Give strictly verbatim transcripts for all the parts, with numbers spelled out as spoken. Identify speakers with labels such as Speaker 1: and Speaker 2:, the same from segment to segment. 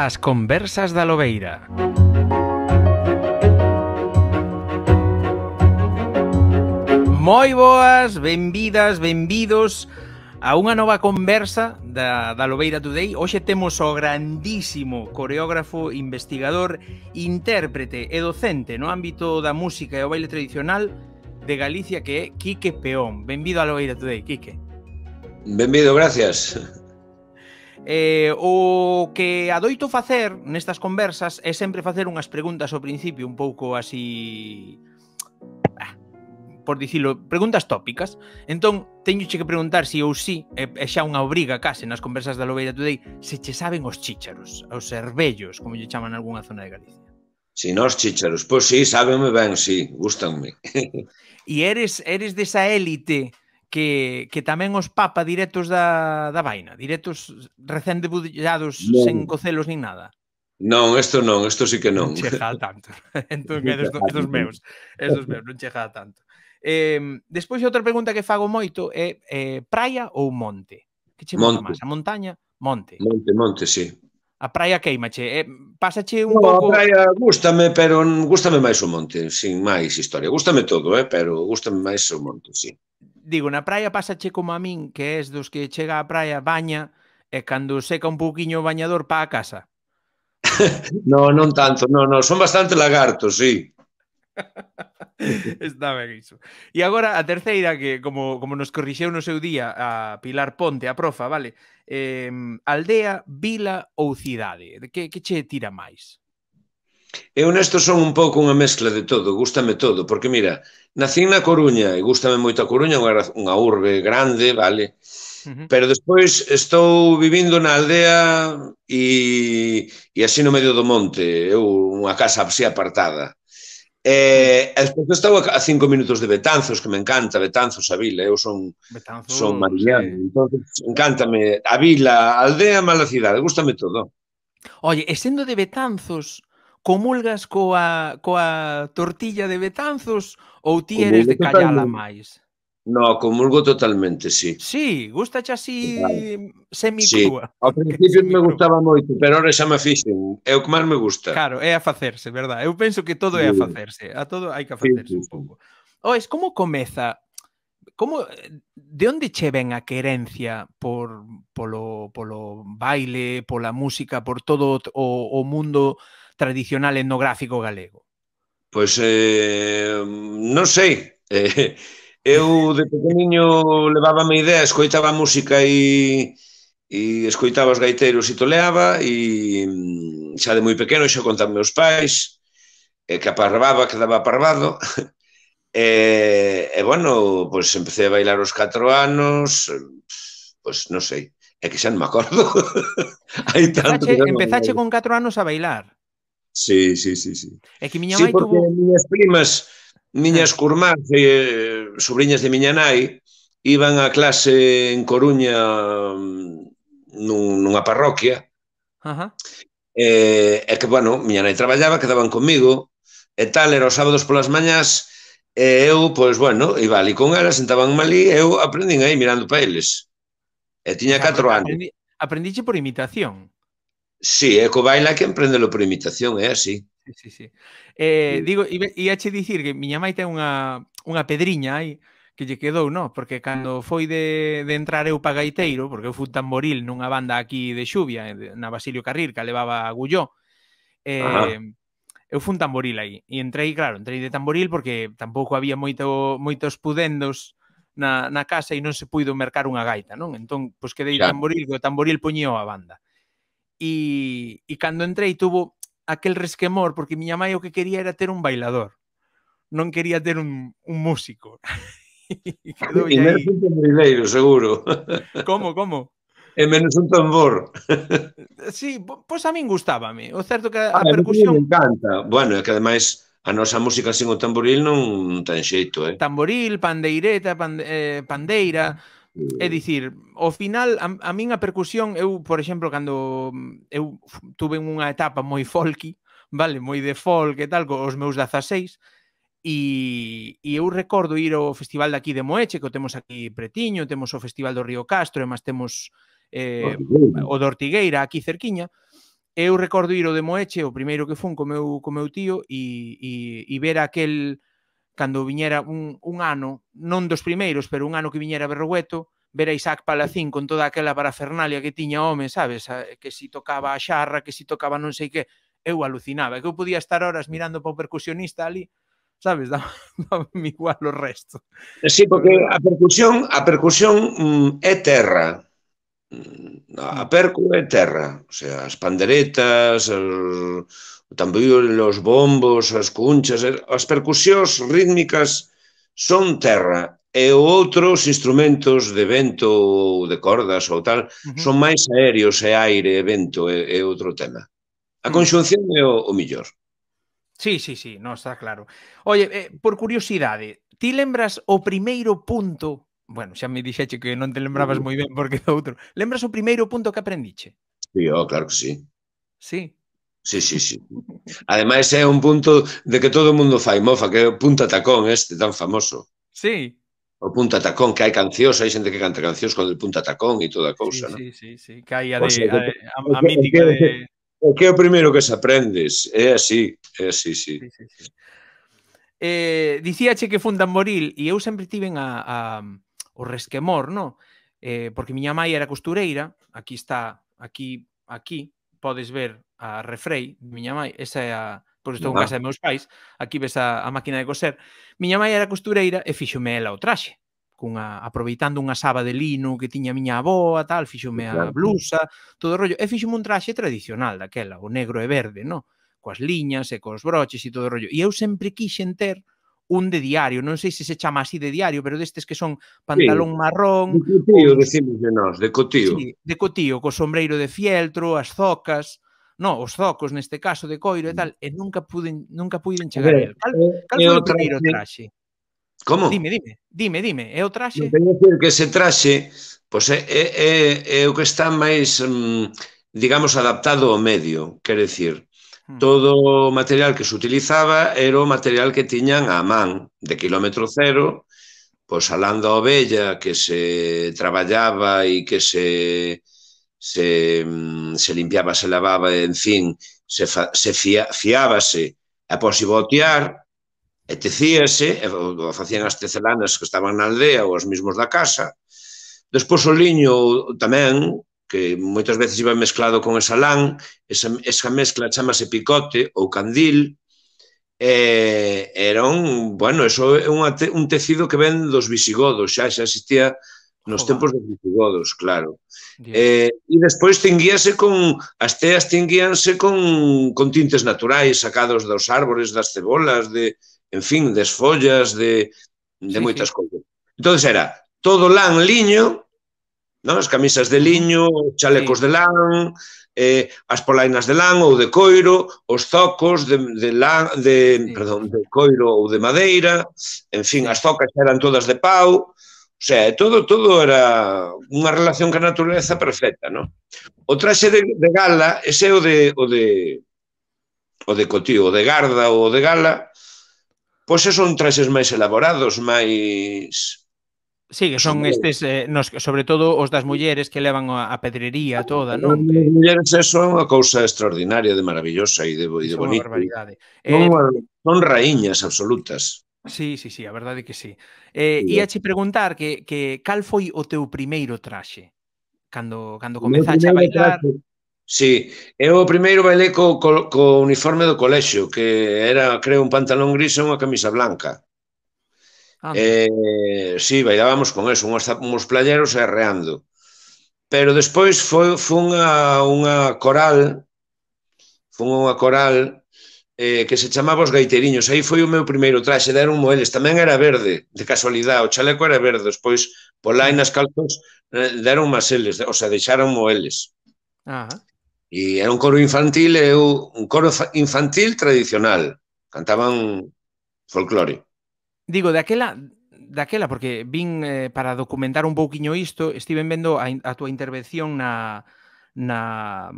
Speaker 1: As conversas da Lobeira. Moi boas, benvidas, benvidos a unha nova conversa da, da Lobeira Today. Hoxe temos o grandísimo coreógrafo, investigador, intérprete e docente no ámbito da música e o baile tradicional de Galicia, que é Quique Peón. Benvido a Lobeira Today, Quique.
Speaker 2: Benvido, gracias.
Speaker 1: Eh, o que adoito facer nestas conversas é sempre facer unhas preguntas ao principio un pouco así, ah, por dicilo, preguntas tópicas. Entón, teñoche que preguntar si ou si, é, é xa unha obriga case nas conversas da Lobeira Today, se che saben os chícharos, os cervellos, como lle chaman nalgúna zona de Galicia.
Speaker 2: Si, nós chícharos, pois sí, sábenme ben, sí, gustanme.
Speaker 1: E eres, eres desa élite que, que tamén os papa directos da, da vaina, directos recén debullados,
Speaker 2: non,
Speaker 1: sen cocelos nin nada.
Speaker 2: Non, isto non, isto sí que non.
Speaker 1: Non chega a tanto. Entón, é dos, é dos meus, é dos meus, non chega a tanto. Eh, despois, outra pregunta que fago moito é eh, praia ou monte? Que che mola máis? A montaña? Monte.
Speaker 2: Monte, monte, sí.
Speaker 1: A praia queimache. Eh, pásache un
Speaker 2: no,
Speaker 1: pouco...
Speaker 2: a praia gústame, pero gústame máis o monte, sin máis historia. Gústame todo, eh, pero gústame máis o monte, sí.
Speaker 1: Digo, na praia pásache como a min, que és dos que chega á praia, baña, e cando seca un pouquiño o bañador pa a casa.
Speaker 2: No, non tanto, no, no, son bastante lagartos, sí.
Speaker 1: Está ben iso. E agora a terceira, que como, como nos corrixeu no seu día a Pilar Ponte, a profa, vale? Eh, aldea, vila ou cidade? Que, que che tira máis?
Speaker 2: Eu nesto son un pouco unha mezcla de todo, gústame todo, porque mira, nacín na Coruña e gústame moito a Coruña, unha urbe grande, vale? Uh-huh. Pero despois estou vivindo na aldea e, e así no medio do monte, eu unha casa así apartada. E, e despois estou a cinco minutos de Betanzos, que me encanta Betanzos, a vila, eu son, son mariñano, sí. Entón, encántame a vila, a aldea, mala cidade, gústame todo.
Speaker 1: Oye, e sendo de Betanzos, comulgas coa, coa tortilla de Betanzos ou ti eres de callala máis?
Speaker 2: No, comulgo totalmente, sí.
Speaker 1: Sí, gustache así semicrúa.
Speaker 2: Sí, ao principio me gustaba moito, pero ahora xa me fixen, é o que máis me gusta.
Speaker 1: Claro, é a facerse, verdad? Eu penso que todo é a facerse, a todo hai que facerse un pouco. Oes, como comeza? Como, de onde che ven a querencia por polo, polo baile, pola música, por todo o, o mundo tradicional etnográfico galego?
Speaker 2: Pois, eh, non sei. Eh, eu, de pequeniño, levábame idea, escoitaba música e, e escoitaba os gaiteiros e toleaba, e xa de moi pequeno xa contaba meus pais, e que aparrababa, quedaba aparrabado. E, e, bueno, pois empecé a bailar os catro anos, pois non sei, é que xa non me acordo. Hai tanto
Speaker 1: empezache, empezache con catro anos a bailar?
Speaker 2: Sí, sí, sí, sí.
Speaker 1: É que miña
Speaker 2: sí,
Speaker 1: mãe
Speaker 2: porque
Speaker 1: tuvo...
Speaker 2: miñas primas, miñas curmás, eh, sobrinhas de miña nai, iban a clase en Coruña nun, nunha parroquia,
Speaker 1: Ajá.
Speaker 2: e, e que, bueno, miña nai traballaba, quedaban comigo, e tal, era os sábados polas mañás, e eu, pois, bueno, iba ali con elas, sentaban ali, e eu aprendín aí mirando para eles. E tiña catro anos.
Speaker 1: Aprendi, aprendiche por imitación.
Speaker 2: Sí, é co baile que emprendelo por imitación, é así.
Speaker 1: Sí, sí, sí. Eh, sí. Digo, íache dicir que miña mãe ten unha, unha pedriña aí que lle quedou, no? Porque cando foi de, de entrar eu pa gaiteiro, porque eu fui tamboril nunha banda aquí de Xuvia, na Basilio Carril, que levaba a Gulló, eh, eu fui un tamboril aí. E entrei, claro, entrei de tamboril porque tampouco había moito, moitos pudendos na, na casa e non se puido mercar unha gaita, non? Entón, pois quedei de tamboril, que o tamboril poñío a banda. E, e cando entrei tuvo aquel resquemor, porque miña mãe o que quería era ter un bailador, non quería ter un, un músico.
Speaker 2: E quedou e menos un tamborileiro, seguro.
Speaker 1: Como, como?
Speaker 2: E menos un tambor.
Speaker 1: Sí, pois a min gustábame. O certo que a,
Speaker 2: ah,
Speaker 1: a percusión...
Speaker 2: me encanta. Bueno, é que ademais a nosa música sin o tamboril non ten xeito, eh?
Speaker 1: Tamboril, pandeireta, pande, eh, pandeira... É dicir, ao final, a, a min a percusión, eu, por exemplo, cando eu tuve unha etapa moi folky, vale, moi de folk e tal, cos meus dezaseis, e, e eu recordo ir ao festival de aquí de Moeche, que o temos aquí pretiño, temos o festival do Río Castro, e máis temos eh, o de Ortigueira, aquí cerquiña, eu recordo ir ao de Moeche, o primeiro que fun co meu, co meu tío, e, e, e ver aquel, cando viñera un, un ano, non dos primeiros, pero un ano que viñera Berrogueto, ver a Isaac Palacín con toda aquela parafernalia que tiña home, sabes? Que si tocaba a xarra, que si tocaba non sei que, eu alucinaba, que eu podía estar horas mirando para o percusionista ali, sabes? Daba igual o resto.
Speaker 2: Sí, porque a percusión, a percusión mm, é terra. A percu é terra, o sea, as panderetas, o tamboril, os bombos, as cunchas, as percusións rítmicas son terra, e outros instrumentos de vento ou de cordas ou tal son máis aéreos, e aire, e vento, é outro tema. A conxunción é o millor.
Speaker 1: Sí, sí, sí, non está claro. Oye, por curiosidade, ti lembras o primeiro punto... Bueno, xa me dixeche que non te lembrabas moi ben porque é outro. Lembras o primeiro punto que aprendiche?
Speaker 2: Sí, oh, claro que sí.
Speaker 1: Sí?
Speaker 2: Sí, sí, sí. Ademais é un punto de que todo o mundo fai mofa, que é o punta tacón este tan famoso.
Speaker 1: Sí.
Speaker 2: O punta tacón, que hai cancións, hai xente que canta cancións con el punta tacón e toda a cousa, non?
Speaker 1: Sí, sí, sí, que hai a mítica de...
Speaker 2: É que é o primeiro que se aprendes, é así, é así, sí.
Speaker 1: Eh, dicíache que fun Tamboril e eu sempre tiven a, a, o resquemor, no? Eh, porque miña mãe era costureira, aquí está, aquí, aquí, podes ver a Refrei, miña mãe, esa é a... Pois estou en casa de meus pais, aquí ves a, a máquina de coser. Miña mãe era costureira e fíxome ela o traxe, cunha, aproveitando unha saba de lino que tiña miña aboa, tal, fíxome a blusa, todo o rollo, e fíxome un traxe tradicional daquela, o negro e verde, no? Coas liñas e cos broches e todo o rollo. E eu sempre quixen ter un de diario, non sei se se chama así de diario, pero destes que son pantalón marrón...
Speaker 2: De cotío, decimos de nós, de cotío.
Speaker 1: Sí, de cotío, co sombreiro de fieltro, as zocas, no, os zocos neste caso de coiro e tal, e nunca puiden, nunca puiden chegar a el. Cal, cal foi o primeiro traxe?
Speaker 2: Como?
Speaker 1: Dime, dime, dime, dime, é o traxe?
Speaker 2: Teño que dicir que ese traxe, pois é, é, é o que está máis, digamos, adaptado ao medio, quere dicir, todo o material que se utilizaba era o material que tiñan á man, de quilómetro cero, pois a lán da ovella que se traballaba e que se se, se limpiaba, se lavaba, en fin, se, fa, se fia, fiábase a posibotear, e tecíase, e facían as tecelanas que estaban na aldea ou os mismos da casa. Despois o liño tamén, que moitas veces iba mezclado con esa lán, esa, esa mezcla chamase picote ou candil, e era un, bueno, eso é un, un tecido que ven dos visigodos, xa xa existía nos tempos dos visigodos, claro. E, e despois tinguíase con, as teas tinguíanse con, con tintes naturais sacados dos árbores, das cebolas, de, en fin, das follas, de, de sí, moitas sí. cousas. Entón era todo lán, liño, non? As camisas de liño, chalecos sí. de lán, eh, as polainas de lán ou de coiro, os zocos de, de lán, de, sí. perdón, de coiro ou de madeira, en fin, sí. as zocas eran todas de pau, o sea, todo, todo era unha relación ca natureza perfecta, non? O traxe de, de gala, ese é o de, o de, o de cotío, o de garda ou o de gala, pois son traxes máis elaborados, máis...
Speaker 1: Sí, que son estes, eh, nos, sobre todo os das mulleres que levan a pedrería toda, non?
Speaker 2: As mulleres, eso é unha cousa extraordinaria, de maravillosa e de, e de bonita. Son, eh, son raíñas absolutas.
Speaker 1: Sí, sí, sí, a verdade que sí. Eh, Iache preguntar que, que cal foi o teu primeiro traxe? Cando, cando comezaste a bailar...
Speaker 2: Traxe, sí, eu o primeiro bailei co, co, co uniforme do colexio, que era, creo, un pantalón gris e unha camisa blanca. Eh, sí, bailábamos con eso, uns, uns playeros e arreando. Pero despois foi, foi unha, unha coral, foi unha coral eh, que se chamaba Os Gaiteriños. Aí foi o meu primeiro traxe, deron moeles. Tamén era verde, de casualidade. O chaleco era verde, despois polainas, calzos, eh, deron maseles, o sea, deixaron moeles.
Speaker 1: Ajá.
Speaker 2: E era un coro infantil, e un coro infantil tradicional. Cantaban folclore.
Speaker 1: Digo, daquela, daquela porque vin eh, para documentar un pouquiño isto, estiven vendo a, a túa intervención na, na,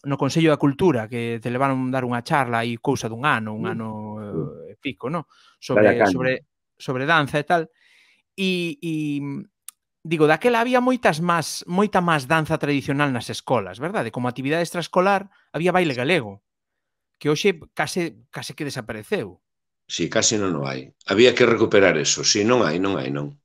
Speaker 1: no Consello da Cultura, que te levaron dar unha charla aí cousa dun ano, un ano e eh, pico, no? Sobre, sobre, sobre danza e tal. E, e digo, daquela había moitas máis, moita máis danza tradicional nas escolas, verdade? Como actividade extraescolar había baile galego, que hoxe case, case que desapareceu.
Speaker 2: Si, casi non o hai. Había que recuperar eso. Si, non hai, non hai, non.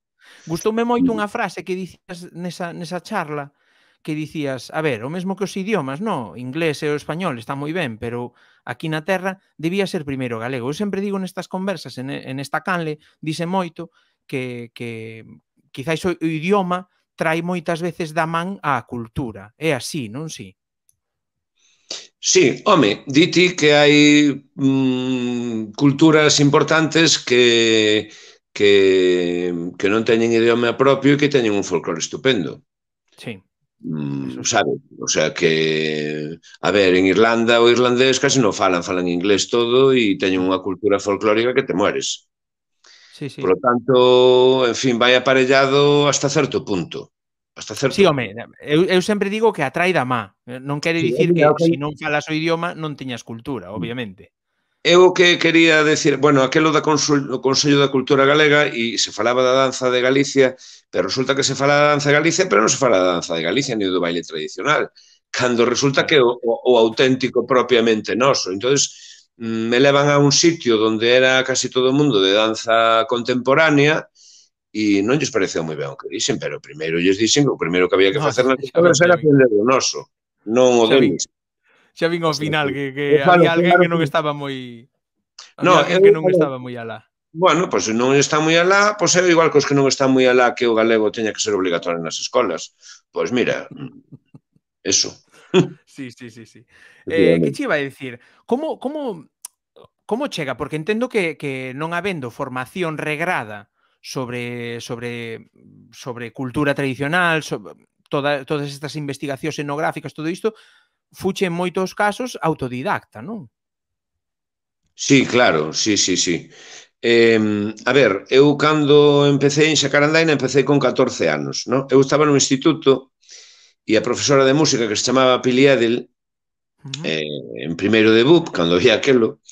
Speaker 1: Gustoume moito unha frase que dicías nesa, nesa charla, que dicías, a ver, o mesmo que os idiomas, no, inglés e o español está moi ben, pero aquí na terra debía ser primeiro galego. Eu sempre digo nestas conversas, en, en esta canle, dice moito que, que quizáis o idioma trai moitas veces da man á cultura. É así, non si?
Speaker 2: Sí, home, diti que hai mm, culturas importantes que, que, que non teñen idioma propio e que teñen un folclore estupendo.
Speaker 1: Sí,
Speaker 2: Mm,
Speaker 1: eso sí.
Speaker 2: sabe? O sea que, a ver, en Irlanda o irlandés casi non falan, falan inglés todo e teñen unha cultura folclórica que te mueres.
Speaker 1: Sí,
Speaker 2: Por
Speaker 1: sí.
Speaker 2: lo tanto, en fin, vai aparellado hasta certo punto. Hasta
Speaker 1: Sí,
Speaker 2: certo
Speaker 1: home,
Speaker 2: punto.
Speaker 1: eu, eu sempre digo que atrai da má. Non quere
Speaker 2: Sí,
Speaker 1: dicir
Speaker 2: mira,
Speaker 1: que
Speaker 2: ok.
Speaker 1: se non falas o idioma non teñas cultura, obviamente.
Speaker 2: Eu o que quería decir, bueno, aquelo da Consul, o Consello da Cultura Galega e se falaba da danza de Galicia, pero resulta que se fala da danza de Galicia, pero non se fala da danza de Galicia ni do baile tradicional, cando resulta
Speaker 1: Claro.
Speaker 2: que o, o, o auténtico propiamente noso. Entonces, me levan a un sitio onde era casi todo o mundo de danza contemporánea e non lles pareceu moi ben o que dixen, pero primeiro lles dixen que o primeiro que había que
Speaker 1: No,
Speaker 2: facer nas
Speaker 1: xa vin,
Speaker 2: escolas
Speaker 1: xa
Speaker 2: era
Speaker 1: vin.
Speaker 2: aprender o noso, non o
Speaker 1: Xa vin,
Speaker 2: deles.
Speaker 1: xa vin
Speaker 2: O
Speaker 1: ao
Speaker 2: sea,
Speaker 1: final
Speaker 2: que,
Speaker 1: que, que
Speaker 2: eu falo,
Speaker 1: había alguén
Speaker 2: claro
Speaker 1: que non
Speaker 2: que...
Speaker 1: estaba moi...
Speaker 2: No,
Speaker 1: Había alguén
Speaker 2: eu
Speaker 1: que non
Speaker 2: falo,
Speaker 1: estaba moi alá.
Speaker 2: bueno, pois pues, se non está moi alá, pois pues, é igual que os que non están moi alá que o galego teña que ser obligatorio nas escolas. Pois pues mira, eso.
Speaker 1: Sí, sí, sí, sí. Eh, que che iba a dicir? Como, como, como chega? Porque entendo que, que non habendo formación regrada sobre, sobre, sobre cultura tradicional, sobre toda, todas estas investigacións etnográficas, todo isto, fuche en moitos casos autodidacta, non?
Speaker 2: Sí, claro, sí, sí, sí. Eh, a ver, eu cando empecé en Xacarandaina empecé con catorce anos, ¿no? Eu estaba no instituto e a profesora de música que se chamaba Pili Edel,
Speaker 1: Uh -huh.
Speaker 2: eh, en primeiro de B U P, cando vía aquelo,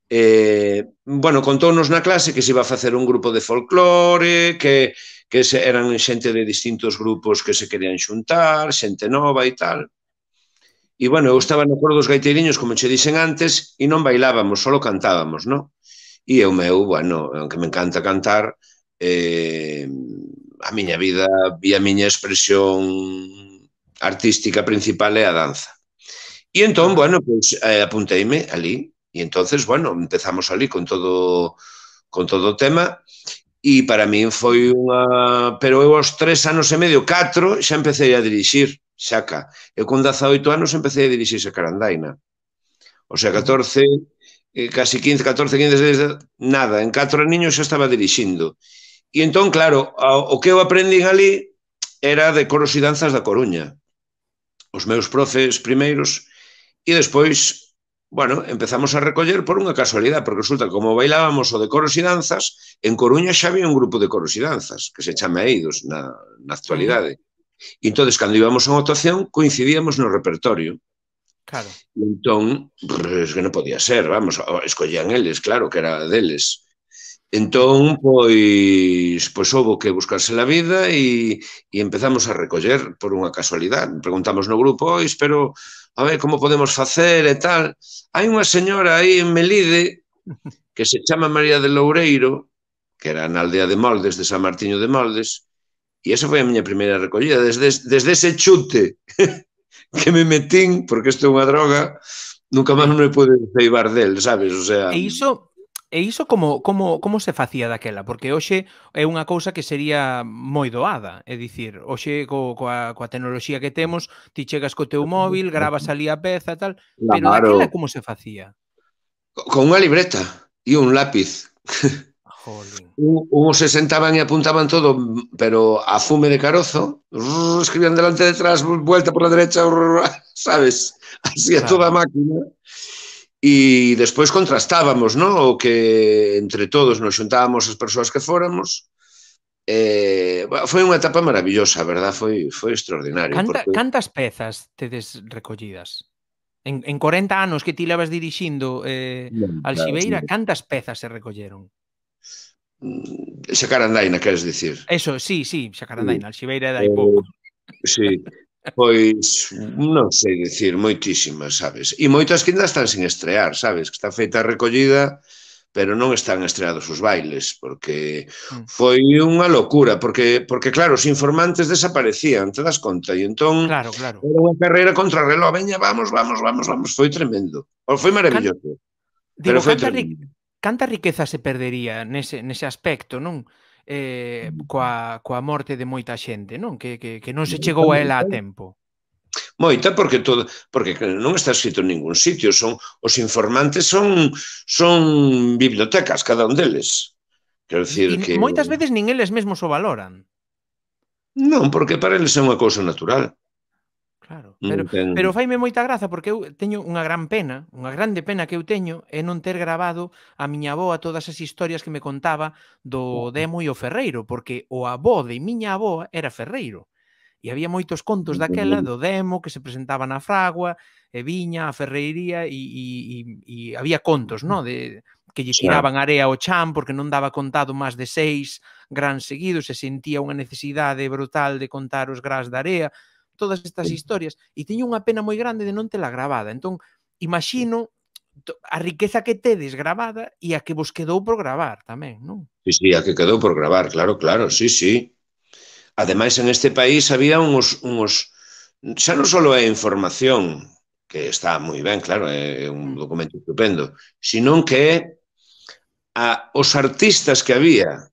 Speaker 2: eh, bueno, contounos na clase que se iba a facer un grupo de folclore, que, que se, eran xente de distintos grupos que se querían xuntar, xente nova e tal. E, bueno, eu estaba no coro dos gaiteiriños, como che dixen antes, e non bailábamos, solo cantábamos, non? E o meu, bueno, aunque me encanta cantar, eh, a miña vida e a miña expresión artística principal é a danza. E entón,
Speaker 1: Ajá.
Speaker 2: bueno, pois pues, eh, apunteime ali. E entonces, bueno, empezamos ali con todo con todo o tema e para min foi unha... Pero eu aos tres anos e medio, catro, xa empecé a dirixir, xaca. Eu con dezaoito anos empecé a dirixir Xacarandaina. O sea,
Speaker 1: Uh -huh.
Speaker 2: catorce, eh, casi quince, catorce, quince, dezasete, nada, en catro niños xa estaba dirixindo. E entón, claro, o que eu aprendín ali era de coros e danzas da Coruña. Os meus profes primeiros. E despois, bueno, empezamos a recoller por unha casualidade, porque resulta que como bailábamos o de coros e danzas, en Coruña xa había un grupo de coros e danzas, que se chama Eidos na, na actualidade. E entón, cando íbamos a unha actuación, coincidíamos no repertorio.
Speaker 1: Claro.
Speaker 2: E entón, pues, que non podía ser, vamos, escollían eles, claro, que era deles. Entón, pois, pois houve que buscarse la vida e, e empezamos a recoller por unha casualidade. Preguntamos no grupo, pois, pero a ver como podemos facer e tal. Hai unha señora aí en Melide que se chama María de Loureiro, que era na aldea de Moldes, de San Martiño de Moldes, e esa foi a miña primeira recollida. Desde, desde ese chute que me metín, porque isto é unha droga, nunca máis
Speaker 1: Sí.
Speaker 2: non me pude ceibar del, sabes? O sea...
Speaker 1: E iso, e iso como, como, como se facía daquela? Porque hoxe é unha cousa que sería moi doada. É dicir, hoxe co, coa, coa tecnoloxía que temos, ti chegas co teu móvil, gravas ali a peza e tal, pero daquela
Speaker 2: Claro.
Speaker 1: como se facía?
Speaker 2: Con unha libreta e un lápiz.
Speaker 1: Jolín.
Speaker 2: Uns se sentaban e apuntaban todo, pero a fume de carozo, escribían delante e detrás, vuelta por la derecha, sabes? Así a
Speaker 1: Claro.
Speaker 2: toda a máquina. E despois contrastábamos, ¿no? O que entre todos nos xuntábamos as persoas que fóramos. Eh, foi unha etapa maravillosa, a verdad? Foi, foi extraordinario.
Speaker 1: Canta,
Speaker 2: Porque...
Speaker 1: cantas pezas tedes recollidas? En, en corenta anos que ti levas dirixindo eh, Alxibeira, cantas pezas se recolleron?
Speaker 2: Xacarandaina, queres dicir?
Speaker 1: Eso, sí, sí, Xacarandaina, Alxibeira dai
Speaker 2: Eh,
Speaker 1: pouco.
Speaker 2: sí, pois non sei dicir, moitísimas, sabes? E moitas que ainda están sin estrear, sabes? Que está feita a recollida, pero non están estreados os bailes, porque
Speaker 1: Mm.
Speaker 2: foi unha locura, porque, porque claro, os informantes desaparecían, te das conta, e entón
Speaker 1: Claro, claro.
Speaker 2: era unha carreira contra o reloj, veña, vamos, vamos, vamos, vamos, foi tremendo, foi
Speaker 1: Can,
Speaker 2: maravilloso, pero
Speaker 1: digo,
Speaker 2: foi
Speaker 1: canta, ri,
Speaker 2: tremendo.
Speaker 1: canta riqueza se perdería nese, nese aspecto, non? Eh, coa, coa morte de moita xente, non? Que, que, que non se
Speaker 2: Moita,
Speaker 1: chegou a ela
Speaker 2: moita,
Speaker 1: a tempo.
Speaker 2: moita, porque todo, porque non está escrito en ningún sitio, son os informantes son son bibliotecas cada un deles. Quero
Speaker 1: E
Speaker 2: dicir que
Speaker 1: moitas veces nin eles mesmos o valoran.
Speaker 2: non, porque para eles é unha cousa natural.
Speaker 1: Claro,
Speaker 2: Non
Speaker 1: pero
Speaker 2: ten...
Speaker 1: pero faime moita graza porque eu teño unha gran pena, unha grande pena que eu teño é non ter grabado a miña avoa todas as historias que me contaba do Demo e o Ferreiro, porque o avó de miña avoa era ferreiro. E había moitos contos daquela do Demo que se presentaba na fragua, e viña a ferreiría e, e, e, e había contos, no? De, que lle
Speaker 2: Xa.
Speaker 1: tiraban area ao chan porque non daba contado máis de seis grans seguidos e sentía unha necesidade brutal de contar os grans da area, todas estas historias, e teño unha pena moi grande de non tela gravada. Entón, imagino a riqueza que tedes gravada e a que vos quedou por gravar tamén, non?
Speaker 2: Sí, sí, a que quedou por gravar, claro, claro, sí, sí. Ademais, en este país había uns, uns xa non só é información, que está moi ben, claro, é un documento estupendo, sino que é a, os artistas que había,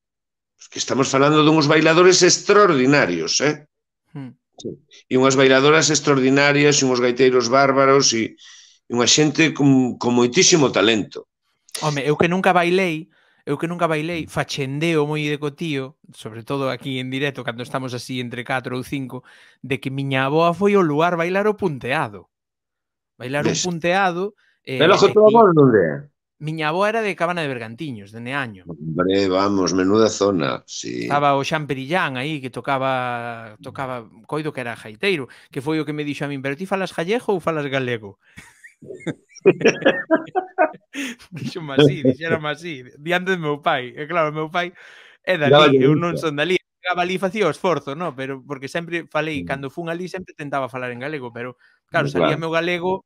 Speaker 2: que estamos falando dunhos bailadores extraordinarios, eh?
Speaker 1: Mm.
Speaker 2: Sí. E unhas bailadoras extraordinarias, e uns gaiteiros bárbaros, e, e unha xente con, con moitísimo talento.
Speaker 1: Home, eu que nunca bailei, eu que nunca bailei, fachendeo moi de cotío, sobre todo aquí en directo, cando estamos así entre catro ou cinco, de que miña avoa foi ao lugar bailar o punteado. Bailar un
Speaker 2: Ves?
Speaker 1: punteado,
Speaker 2: E
Speaker 1: eh,
Speaker 2: logo
Speaker 1: e
Speaker 2: todo
Speaker 1: ti,
Speaker 2: amor non é?
Speaker 1: miña avoa era de Cabana de Bergantiños, de Neaño.
Speaker 2: Hombre, vamos, menuda zona, sí.
Speaker 1: Estaba o Xan Perillán aí que tocaba tocaba coido que era gaiteiro, que foi o que me dixo a min, pero ti falas gallego ou falas galego? Dixome así, dixérame así, diante do meu pai. E claro, o meu pai é dali, eu non son dali. Chegaba ali e facía o esforzo, no? Pero porque sempre falei, cando fun ali sempre tentaba falar en galego, pero claro, salía meu galego,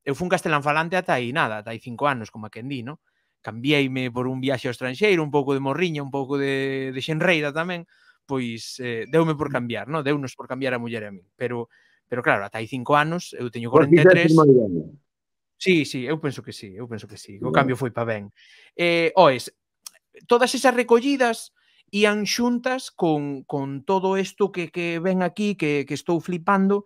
Speaker 1: eu fun castelán falante ata aí nada, ata aí cinco anos, como a quen di, no? Cambiéime por un viaxe ao estranxeiro, un pouco de morriña, un pouco de, de xenreira tamén, pois eh, deume por cambiar, no? Deunos por cambiar a muller e a min. Pero, pero claro, ata aí cinco anos, eu teño corenta e tres. Sí, sí, eu penso que sí, eu penso que sí. O cambio foi pa ben. Eh, oes, todas esas recollidas ían xuntas con, con todo isto que, que ven aquí, que, que estou flipando,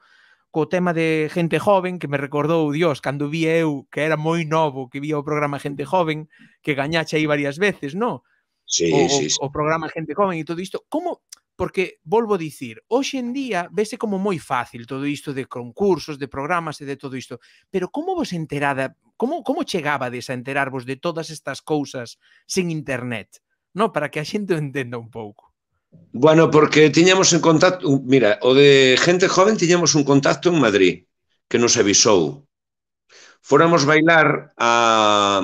Speaker 1: co tema de Gente Joven, que me recordou, Dios, cando vi eu, que era moi novo, que vía o programa Gente Joven, que gañache aí varias veces, no?
Speaker 2: Sí,
Speaker 1: O,
Speaker 2: sí, sí.
Speaker 1: o, o programa Gente Joven e todo isto. Como, porque, volvo a dicir, hoxe en día vese como moi fácil todo isto de concursos, de programas e de todo isto, pero como vos enterada, como, como chegabades a enterarvos de todas estas cousas sen internet? No, para que a xente o entenda un pouco.
Speaker 2: Bueno, porque tiñamos en contacto, mira, o de Gente Joven tiñamos un contacto en Madrid, que nos avisou. Fóramos bailar a,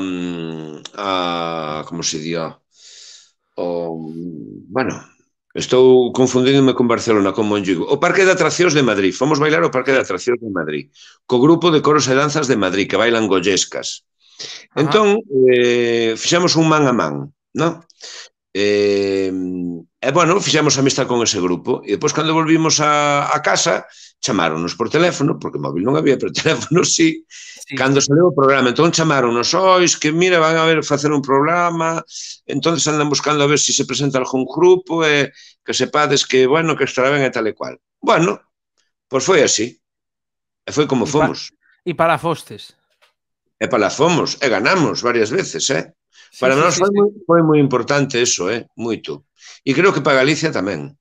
Speaker 2: a como se dio, o, bueno, estou confundíndome con Barcelona, con Monlligo. O Parque de Atraccións de Madrid. Fomos bailar ao Parque de Atraccións de Madrid, co grupo de coros e danzas de Madrid, que bailan gollescas. Ajá. Entón, eh, fixemos un man a man, non? E, e bueno, fixemos amistad con ese grupo e depois cando volvimos a, a casa chamáronos por teléfono, porque móvil non había, pero teléfono sí, sí, cando sí. Saleu o programa, entón chamáronos, ois, que mira, van a ver facer un programa, entonces andan buscando a ver se si se presenta algún grupo e que sepades que, bueno, que estará ben e tal e cual. Bueno, pois foi así, e foi como
Speaker 1: e
Speaker 2: fomos.
Speaker 1: Pa, e para fostes.
Speaker 2: E para fomos, e ganamos varias veces, eh? Sí, para sí, nós sí, foi, sí. Moi, foi moi importante eso, eh? Moito. E creo que para Galicia tamén.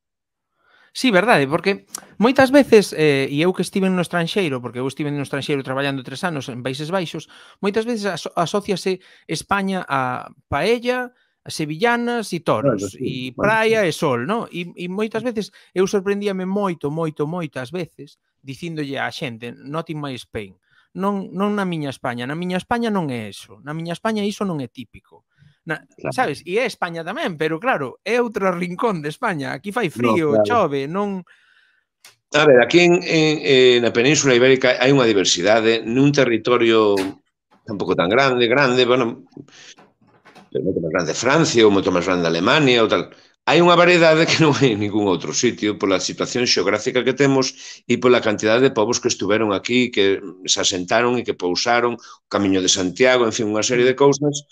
Speaker 1: Sí, verdade, porque moitas veces, eh, e eu que estive no estranxeiro, porque eu estive no estranxeiro traballando tres anos en Países Baixos, moitas veces aso asociase España a paella, a sevillanas e toros, bueno, sí, e praia bueno, sí. E sol, non? E, e moitas veces eu sorprendíame moito, moito, moitas veces, dicíndolle á xente, not in my Spain. Non, non na miña España, na miña España non é eso, na miña España iso non é típico. Na, sabes? E é España tamén, pero claro, é outro rincón de España. Aquí fai
Speaker 2: No,
Speaker 1: frío,
Speaker 2: claro.
Speaker 1: chove, non...
Speaker 2: A ver, aquí en, en, en na Península Ibérica hai unha diversidade nun territorio tampouco tan grande, grande, bueno, moito máis grande Francia ou moito máis grande Alemania ou tal. Hai unha variedade que non hai en ningún outro sitio pola situación xeográfica que temos e pola cantidade de povos que estuveron aquí, que se asentaron e que pousaron, o Camiño de Santiago, en fin, unha serie de cousas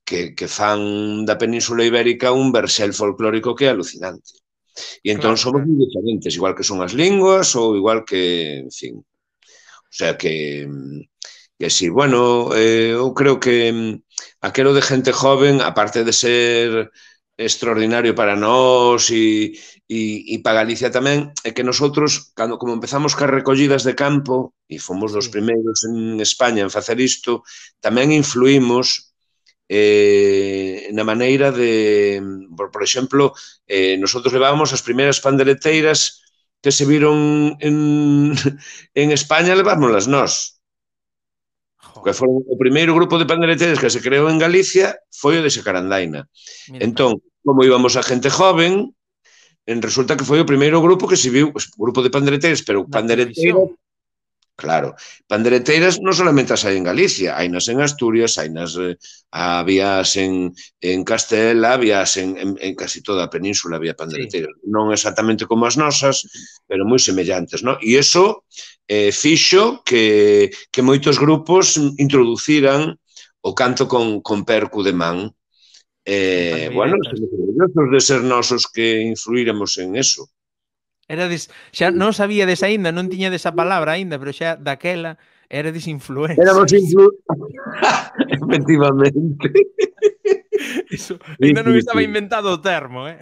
Speaker 2: que, que fan da Península Ibérica un versel folclórico que é alucinante. E entón claro, somos claro. moi diferentes, igual que son as linguas ou igual que, en fin, o sea que, que sí, bueno, eh, eu creo que aquelo de gente joven, aparte de ser extraordinario para nós e, e, e para Galicia tamén, é que nosotros, cando como empezamos cas recollidas de campo, e fomos dos sí. primeiros en España en facer isto, tamén influímos Eh, na maneira de, por, por exemplo, eh, nosotros levábamos as primeiras pandereteiras que se viron en, en España, levámonos nós. Que foron o primeiro grupo de pandereteiras que se creou en Galicia foi o de Xacarandaina. Mira, entón, como íbamos a gente joven, en resulta que foi o primeiro grupo que se viu, o grupo de pandereteiras, pero pandereteiras... Claro, pandereteiras non solamente as hai en Galicia, hai nas en Asturias, hai nas eh, habías en, en Castela, habías en, en, en casi toda a península había pandereteiras. Sí. Non exactamente como as nosas, pero moi semellantes, non? E iso eh, fixo que, que moitos grupos introduciran o canto con, con percu de man. Eh, bueno, somos orgullosos de ser nosos que influíramos en eso.
Speaker 1: Erades, xa non sabíades aínda, non tiñades esa palabra aínda, pero xa daquela erades influencers.
Speaker 2: Éramos influencers. Efectivamente.
Speaker 1: Eso, ainda non estaba inventado o termo, eh?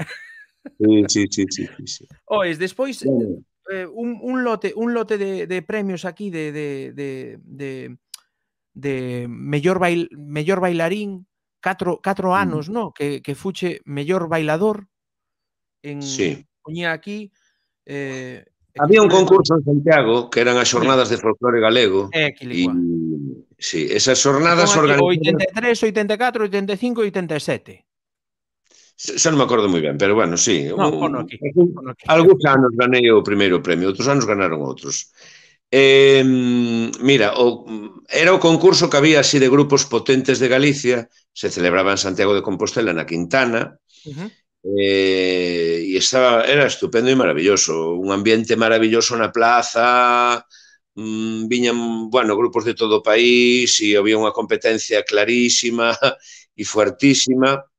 Speaker 2: Sí, sí, sí, sí, sí.
Speaker 1: Oes, despois bueno. eh, un, un lote, un lote de, de premios aquí de de de de, de mellor bail, mellor bailarín, catro, catro anos, mm. no, que que fuche mellor bailador en
Speaker 2: sí.
Speaker 1: poñía aquí. Eh,
Speaker 2: Había un concurso en Santiago que eran as xornadas sí. de folclore galego
Speaker 1: e
Speaker 2: e sí, esas xornadas organizadas...
Speaker 1: oitenta e tres, oitenta e catro, oitenta e cinco e oitenta e sete.
Speaker 2: Xa non me acordo moi ben, pero bueno, sí.
Speaker 1: No, un, pono aquí, pono aquí.
Speaker 2: Algúns anos ganei o primeiro premio, outros anos ganaron outros. Eh, mira, o, era o concurso que había así de grupos potentes de Galicia, se celebraba en Santiago de Compostela, na Quintana, uh-huh. Eh, e estaba, era estupendo e maravilloso, un ambiente maravilloso na plaza, mmm, viñan, bueno, grupos de todo o país e había unha competencia clarísima e fuertísima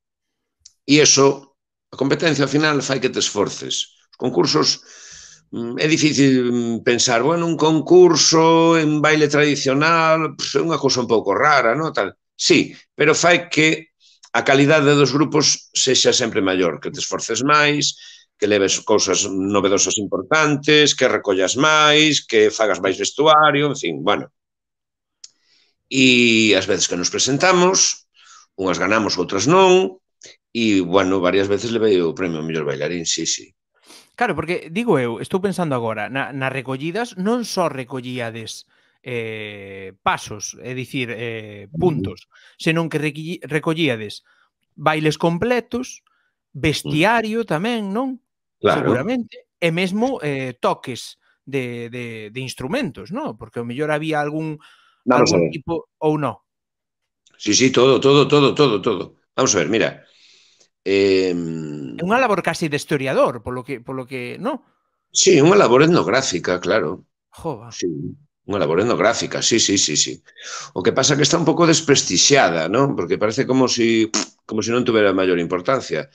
Speaker 2: e eso, a competencia ao final fai que te esforces. Os concursos, é difícil pensar, bueno, un concurso en baile tradicional pues, é unha cousa un pouco rara, non? Tal. Sí, pero fai que a calidade dos grupos sexa sempre maior, que te esforces máis, que leves cousas novedosas importantes, que recollas máis, que fagas máis vestuario, en fin, bueno. E as veces que nos presentamos, unhas ganamos, outras non, e, bueno, varias veces levei o premio ao mellor bailarín, sí, sí.
Speaker 1: Claro, porque, digo eu, estou pensando agora, na, nas recollidas non só recollíades Eh, pasos, é dicir, eh, puntos, senón que recollíades bailes completos, bestiario tamén, non?
Speaker 2: Claro.
Speaker 1: Seguramente, e mesmo eh, toques de, de, de instrumentos, non? Porque ao mellor había algún,
Speaker 2: Vamos
Speaker 1: algún tipo ou non.
Speaker 2: Sí, sí, todo, todo, todo, todo, todo. Vamos a ver, mira.
Speaker 1: Eh... É unha labor casi de historiador, polo que, polo que, non?
Speaker 2: Sí, unha labor etnográfica, claro.
Speaker 1: Jova.
Speaker 2: Sí. Unha labor etnográfica, sí, sí, sí, sí. O que pasa é que está un pouco desprestixiada, non? Porque parece como si, como si non tuvera maior importancia.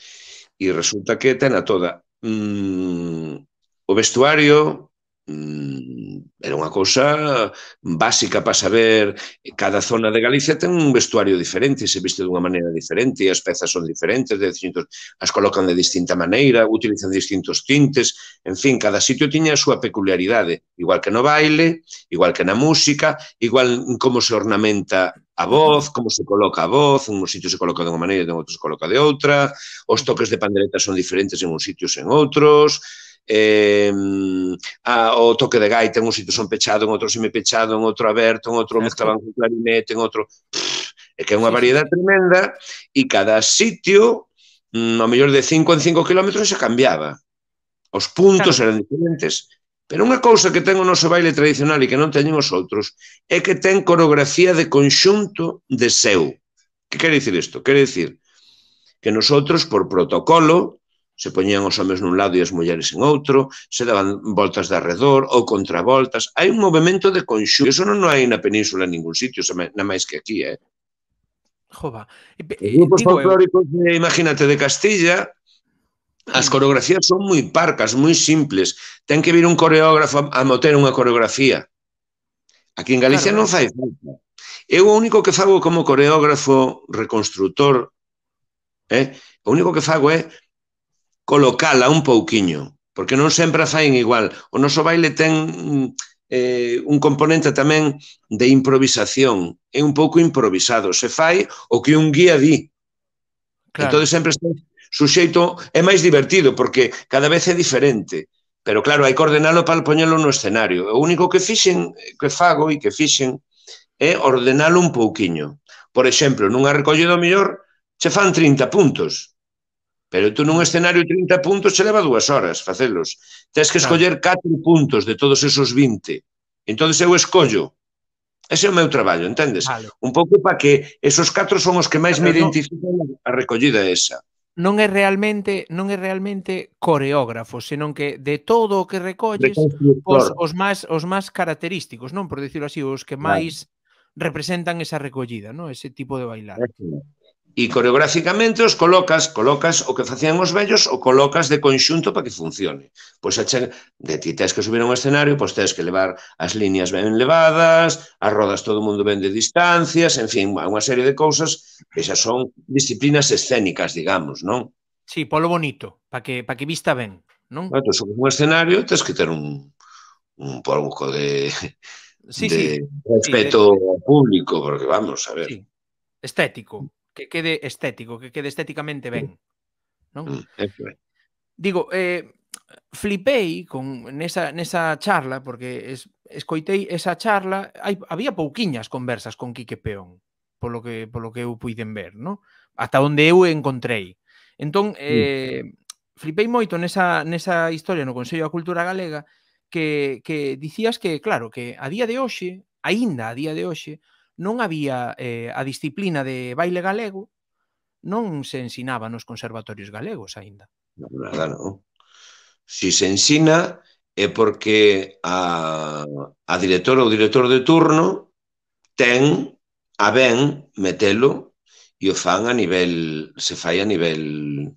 Speaker 2: E resulta que ten a toda. Mm, o vestuario mm, era unha cousa básica para saber. Cada zona de Galicia ten un vestuario diferente, se viste dunha maneira diferente, as pezas son diferentes, de distintos, as colocan de distinta maneira, utilizan distintos tintes, en fin, cada sitio tiña a súa peculiaridade, igual que no baile, igual que na música, igual como se ornamenta a voz, como se coloca a voz, en uns sitios se coloca de unha maneira e en outros se coloca de outra, os toques de pandereta son diferentes en uns sitios e en outros, eh, a, o toque de gaita en un sitio son pechado, en outro semipechado, en outro aberto, en outro mezclaban con clarinete, en outro... Pff, é que é unha variedade tremenda e cada sitio, ao mellor de cinco en cinco kilómetros, se cambiaba. Os puntos eran diferentes. Pero unha cousa que ten o noso baile tradicional e que non teñen os outros é que ten coreografía de conxunto de seu. Que quere dicir isto? Quere dicir que nosotros, por protocolo, se poñían os homes nun lado e as mulleres en outro, se daban voltas de arredor ou contravoltas. Hai un movimento de conxunto. Eso non hai na península en ningún sitio, na máis que aquí, eh?
Speaker 1: Jova.
Speaker 2: Os grupos folclóricos, de, imagínate, de Castilla, as coreografías son moi parcas, moi simples. Ten que vir un coreógrafo a moter unha coreografía. Aquí en Galicia non fai falta. Eu o único que fago como coreógrafo reconstructor, eh, o único que fago é colocala un pouquiño, porque non sempre a faen igual. O noso baile ten eh, un componente tamén de improvisación. É un pouco improvisado. Se fai o que un guía di. Claro. Entón sempre está suxeito, é máis divertido, porque cada vez é diferente. Pero claro, hai que ordenalo para poñelo no escenario. O único que fixen, que fago e que fixen é ordenalo un pouquiño. Por exemplo, nunha recollida mellor, che fan trinta puntos. Pero tú nun escenario trinta puntos che leva dúas horas facelos. Tens que escoller catro puntos de todos esos vinte. Entón eu escollo. Ese é o meu traballo, entendes? Un pouco para que esos catro son os que máis me identifican a recollida esa.
Speaker 1: Non é realmente non é realmente coreógrafo, senón que de todo o que recolles os, os, máis, os máis característicos, non? Por dicirlo así, os que máis representan esa recollida, non? Ese tipo de bailar.
Speaker 2: E coreográficamente os colocas, colocas o que facían os vellos, o colocas de conxunto para que funcione. Pois de ti tens que subir a un escenario, pois tens que levar as líneas ben levadas, as rodas todo o mundo ben de distancias, en fin, unha serie de cousas que xa son disciplinas escénicas, digamos, non?
Speaker 1: Sí, polo bonito, para que, pa que vista ben, non?
Speaker 2: Entón, sobre un escenario tens que ter un, un pouco de,
Speaker 1: sí,
Speaker 2: de
Speaker 1: sí,
Speaker 2: respeto
Speaker 1: sí, de...
Speaker 2: ao público, porque vamos, a ver.
Speaker 1: Sí, estético. Que quede estético, que quede estéticamente ben, non?
Speaker 2: Mm,
Speaker 1: Digo, eh, flipei con nesa, nesa charla, porque es, escoitei esa charla, hai, había pouquiñas conversas con Quique Peón, polo que, polo que eu puiden ver, non? Ata onde eu encontrei. Entón, eh, flipei moito nesa, nesa historia no Consello da Cultura Galega que, que dicías que, claro, que a día de hoxe, aínda a día de hoxe, non había eh, a disciplina de baile galego, non se ensinaba nos conservatorios galegos aínda.
Speaker 2: Non, nada, non. Si se ensina é porque a, a directora ou director de turno ten a ben metelo e o fan a nivel, se fai a nivel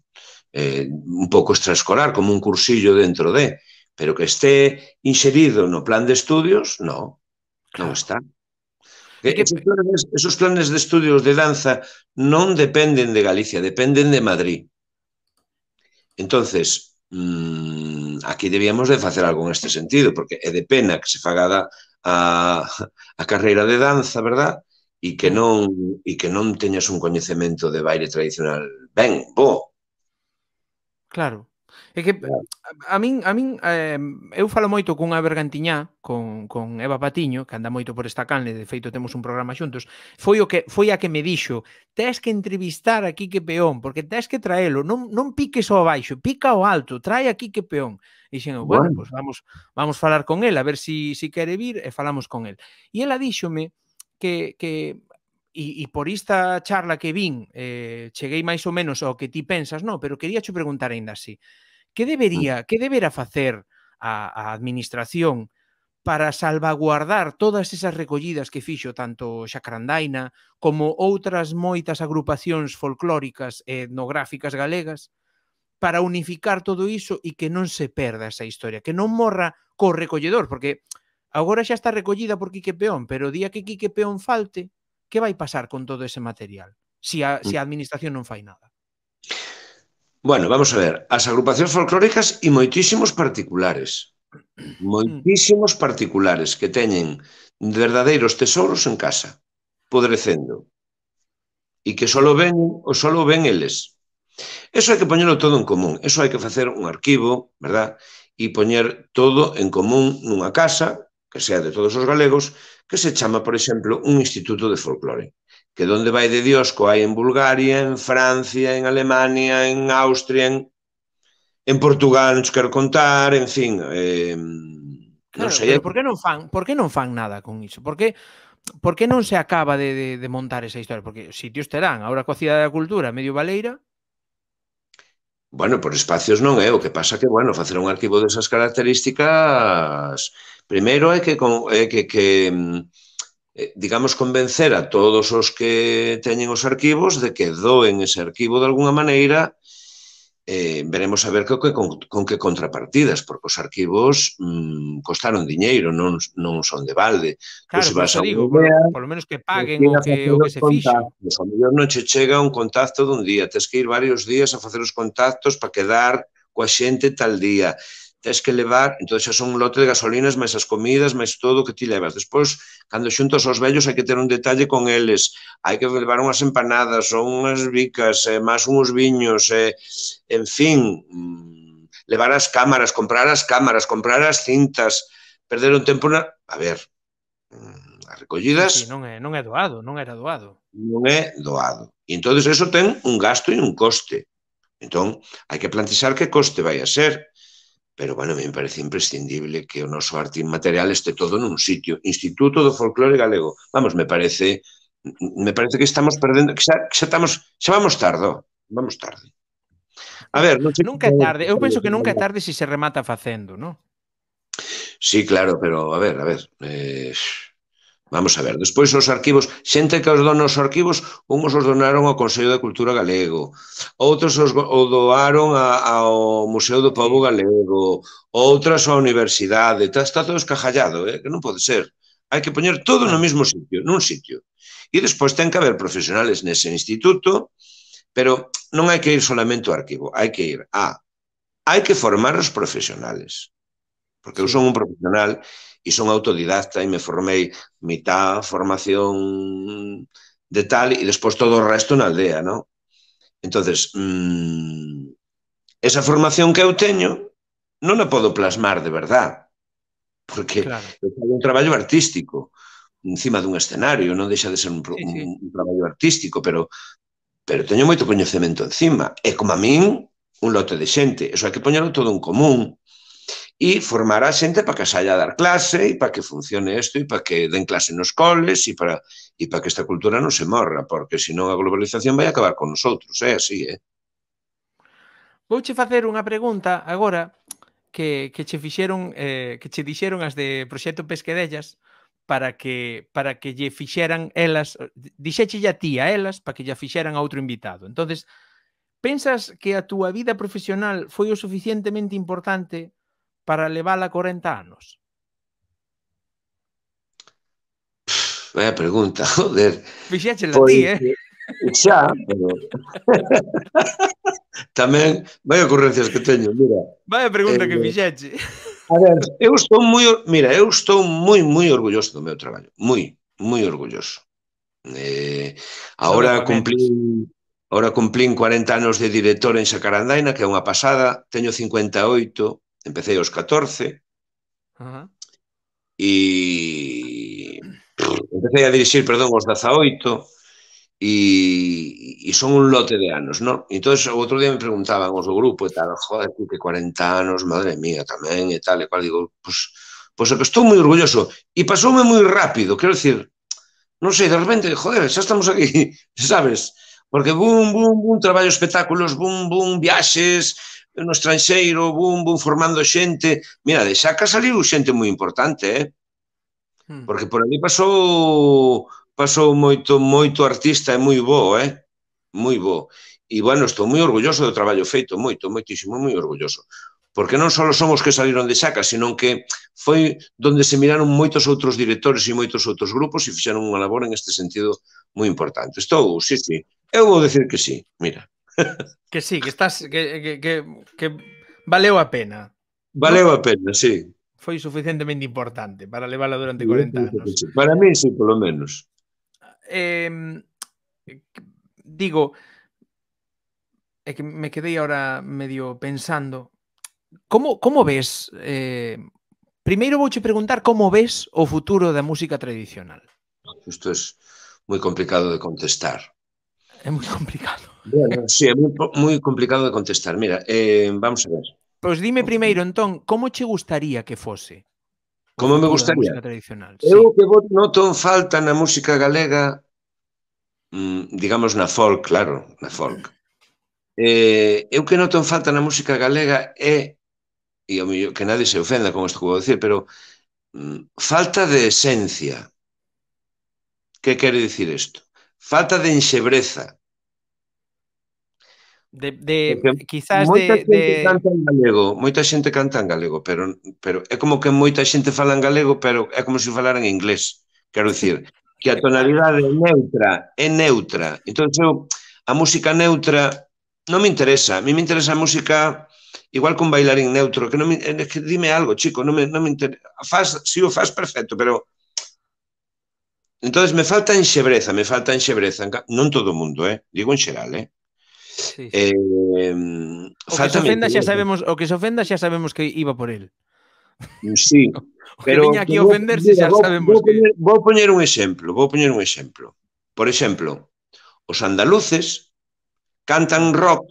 Speaker 2: eh, un pouco extraescolar, como un cursillo dentro de, pero que este inxerido no plan de estudios, non, non está. Que esos, planes, esos planes de estudios de danza non dependen de Galicia, dependen de Madrid. Entonces, mmm, aquí debíamos de facer algo neste sentido, porque é de pena que se faga a, a carreira de danza, verdad? E que non e que non teñas un coñecemento de baile tradicional ben, bo.
Speaker 1: Claro. É que a min, a min eh, eu falo moito cunha bergantiñá con, con Eva Patiño, que anda moito por esta canle, de feito temos un programa xuntos, foi o que foi a que me dixo, tes que entrevistar a Quique Peón, porque tes que traelo, non, non piques ao baixo, pica ao alto, trae a Quique Peón. E dixen, bueno, bueno, pues vamos, vamos falar con el, a ver si, si quere vir, e falamos con el. E ela díxome que, que e, e por esta charla que vin, eh, cheguei máis ou menos ao que ti pensas, no, pero quería che preguntar ainda así. Que debería, que debera facer a, a administración para salvaguardar todas esas recollidas que fixo tanto Xacrandaina como outras moitas agrupacións folclóricas e etnográficas galegas para unificar todo iso e que non se perda esa historia, que non morra co recolledor, porque agora xa está recollida por Quique Peón, pero o día que Quique Peón falte, que vai pasar con todo ese material? Se a, se a administración non fai nada.
Speaker 2: Bueno, vamos a ver, as agrupacións folclóricas e moitísimos particulares, moitísimos particulares que teñen verdadeiros tesouros en casa, podrecendo, e que só ven, o só ven eles. Eso hai que poñerlo todo en común, eso hai que facer un arquivo, verdad? E poñer todo en común nunha casa, que sea de todos os galegos, que se chama, por exemplo, un instituto de folclore, que donde vai de Diosco hai en Bulgaria, en Francia, en Alemania, en Austria, en, en Portugal, non quero contar, en fin, eh, non
Speaker 1: Claro,
Speaker 2: sei...
Speaker 1: pero por que non fan, por que non fan nada con iso? Por que, por que non se acaba de, de, de montar esa historia? Porque sitios terán, agora coa Cidade da Cultura, medio baleira.
Speaker 2: Bueno, por espacios non é, o que pasa que, bueno, facer un arquivo desas características, primeiro é que, é que, que digamos, convencer a todos os que teñen os arquivos de que doen ese arquivo de alguna maneira, eh, veremos a ver con que, con, con que contrapartidas, porque os arquivos mmm, costaron diñeiro, non, non son de balde.
Speaker 1: Claro,
Speaker 2: Tú,
Speaker 1: por
Speaker 2: se vas
Speaker 1: eso
Speaker 2: a
Speaker 1: digo,
Speaker 2: unha idea,
Speaker 1: por, por lo menos que paguen o que, o que se fixo.
Speaker 2: A mellor non che chega un contacto dun día, tens que ir varios días a facer os contactos para quedar coa xente tal día. Tens que levar, entón xa son un lote de gasolinas, máis as comidas, máis todo o que ti levas. Despois, cando xuntos aos vellos, hai que ter un detalle con eles. Hai que levar unhas empanadas, ou unhas bicas, eh, máis uns viños, eh, en fin, levar as cámaras, comprar as cámaras, comprar as cintas, perder un tempo na... A ver, as recollidas...
Speaker 1: Sí, sí, non é, non é doado, non era doado.
Speaker 2: Non é doado. E entón, eso ten un gasto e un coste. Entón, hai que plantexar que coste vai a ser. Pero, bueno, a mí me parece imprescindible que o noso arte inmaterial este todo nun sitio. Instituto do Folclore Galego. Vamos, me parece me parece que estamos perdendo, que xa, que xa estamos, xa vamos tarde, vamos tarde. A ver, non sei...
Speaker 1: Nunca é tarde, eu penso que nunca é tarde se se remata facendo, non?
Speaker 2: Sí, claro, pero, a ver, a ver... Eh... Vamos a ver, despois os arquivos, xente que os donos os arquivos, uns os donaron ao Consello da Cultura Galego, outros os o doaron a, ao Museo do Pobo Galego, outras á Universidade, está, está todo escajallado, eh? Que non pode ser. Hai que poñer todo no mesmo sitio, nun sitio. E despois ten que haber profesionales nese instituto, pero non hai que ir solamente ao arquivo, hai que ir a... Hai que formar os profesionales, porque eu son un profesional e son autodidacta e me formei mitad formación de tal e despois todo o resto na aldea, non? Entonces, mmm, esa formación que eu teño non a podo plasmar de verdad, porque claro, eu fago un traballo artístico encima dun escenario, non deixa de ser un, sí, sí. un, un traballo artístico, pero, pero teño moito coñecemento encima, e como a min, un lote de xente, eso hai que poñerlo todo en común, e formar a xente para que saia a dar clase e para que funcione isto e para que den clase nos coles e para, e para que esta cultura non se morra, porque senón a globalización vai acabar con nosotros, é así, é.
Speaker 1: Vouche facer unha pregunta agora que, que che fixeron, eh, que che dixeron as de Proxecto Pesquedellas para que para que lle fixeran elas, dixéchelle a ti a elas para que lle fixeran a outro invitado. Entonces, pensas que a túa vida profesional foi o suficientemente importante para levala corenta anos?
Speaker 2: Vaya pregunta, joder.
Speaker 1: Fixéchela a ti, eh?
Speaker 2: Xa, pero... Tamén, vai ocurrencias que teño, mira.
Speaker 1: Vaya pregunta eh, que fixeche.
Speaker 2: A ver, eu estou moi... Mira, eu estou moi, moi orgulloso do meu traballo. Moi, moi orgulloso. Eh, ahora cumplín... Ahora cumplín cuarenta anos de director en Xacarandaina, que é unha pasada. Teño cincuenta e oito, empecé aos catorce.
Speaker 1: Uh-huh.
Speaker 2: E... Empecé a dirixir, perdón, aos dezaoito. E, e son un lote de anos, non? Entón, o outro día me preguntaban os do grupo e tal, joder, que cuarenta anos, madre mía, tamén, e tal, e cual, digo, pois, pois é que estou moi orgulloso, e pasoume moi rápido, quero dicir, non sei, de repente, joder, xa estamos aquí, sabes? Porque bum, bum, bum, traballo espectáculos, bum, bum, viaxes no estranxeiro, bum, bum, formando xente, mira, de Xaca saliu xente moi importante, eh? Porque por ali pasou... pasou moito, moito artista e moi bo, eh? Moi bo. E, bueno, estou moi orgulloso do traballo feito, moito, moitísimo, moi orgulloso. Porque non só son os que saliron de Xaca, senón que foi donde se miraron moitos outros directores e moitos outros grupos e fixeron unha labor en este sentido moi importante. Estou, sí, sí. Eu vou decir que sí, mira.
Speaker 1: Que sí, que estás, que, que, que, que valeu a pena.
Speaker 2: Valeu a pena, sí.
Speaker 1: Foi suficientemente importante para levala durante cuarenta anos.
Speaker 2: Para mí, sí, polo menos.
Speaker 1: Eh, digo, é que me quedei ahora medio pensando, como, como ves, eh, primeiro vouche preguntar como ves o futuro da música tradicional.
Speaker 2: Isto é moi complicado de contestar.
Speaker 1: É moi complicado.
Speaker 2: Bueno, sí, é moi, moi complicado de contestar. Mira, eh, vamos a ver.
Speaker 1: Pois dime primeiro, entón, como che gustaría que fose o
Speaker 2: Como me
Speaker 1: futuro da
Speaker 2: gustaría?
Speaker 1: música tradicional?
Speaker 2: Eu
Speaker 1: Sí.
Speaker 2: que noto en falta na música galega, digamos na folk, claro, na folk. Eh, eu que noto en falta na música galega é, e ao mellor que nadie se ofenda con isto que vou dicir, pero mm, falta de esencia. Que quere dicir isto? Falta de enxebreza.
Speaker 1: De, de
Speaker 2: Porque
Speaker 1: quizás
Speaker 2: moita
Speaker 1: de,
Speaker 2: xente
Speaker 1: de...
Speaker 2: canta en galego, moita xente canta en galego, pero, pero é como que moita xente fala en galego, pero é como se falara en inglés. Quero dicir, que a tonalidade é neutra, é neutra. Entón, eu, a música neutra non me interesa. A mí me interesa a música igual que un bailarín neutro, que non me, é que dime algo, chico, non me, non me interesa. Faz, si o faz perfecto, pero entonces me falta enxebreza, me falta enxebreza. Non todo o mundo, eh? Digo en xeral, eh?
Speaker 1: Sí, sí.
Speaker 2: Eh,
Speaker 1: o que se ofenda xa sabemos, o que se ofenda xa sabemos que iba por el.
Speaker 2: Sí,
Speaker 1: o que
Speaker 2: pero
Speaker 1: viña aquí a
Speaker 2: vou,
Speaker 1: ofenderse
Speaker 2: mira,
Speaker 1: xa
Speaker 2: vou,
Speaker 1: sabemos
Speaker 2: vou,
Speaker 1: que...
Speaker 2: poñer, vou poñer un exemplo, vou poñer un exemplo. Por exemplo, os andaluces cantan rock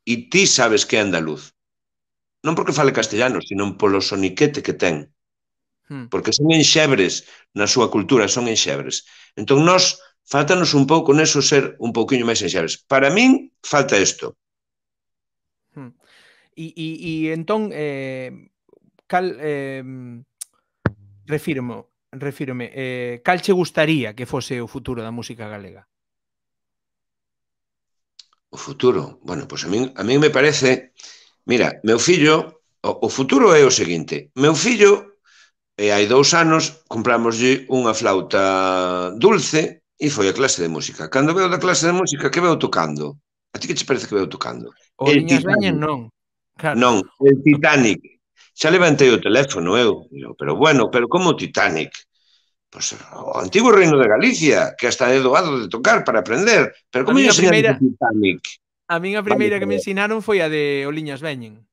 Speaker 2: e ti sabes que é andaluz. Non porque fale castellano, sino polo soniquete que ten. Porque son enxebres na súa cultura, son enxebres. Entón, nós, faltanos un pouco neso ser un pouquiño máis enxebres. Para min, falta isto.
Speaker 1: E, e, e entón, eh, cal... Eh, refírmo, refírome, eh, cal che gustaría que fose o futuro da música galega?
Speaker 2: O futuro? Bueno, pois a min, a min me parece... Mira, meu fillo... O, o futuro é o seguinte. Meu fillo, e hai dous anos, compramoslle unha flauta dulce e foi a clase de música. Cando veo da clase de música, que veo tocando? A ti que che parece que veo tocando?
Speaker 1: O
Speaker 2: El
Speaker 1: liñas veñen,
Speaker 2: Titanic.
Speaker 1: non. Claro.
Speaker 2: Non, el Titanic. Xa levantei o teléfono eu. Pero bueno, pero como o Titanic? Pois o antigo reino de Galicia, que hasta é doado de tocar para aprender. Pero como lle enseñaron o Titanic?
Speaker 1: A min a primeira que me ensinaron foi a de o liñas veñen.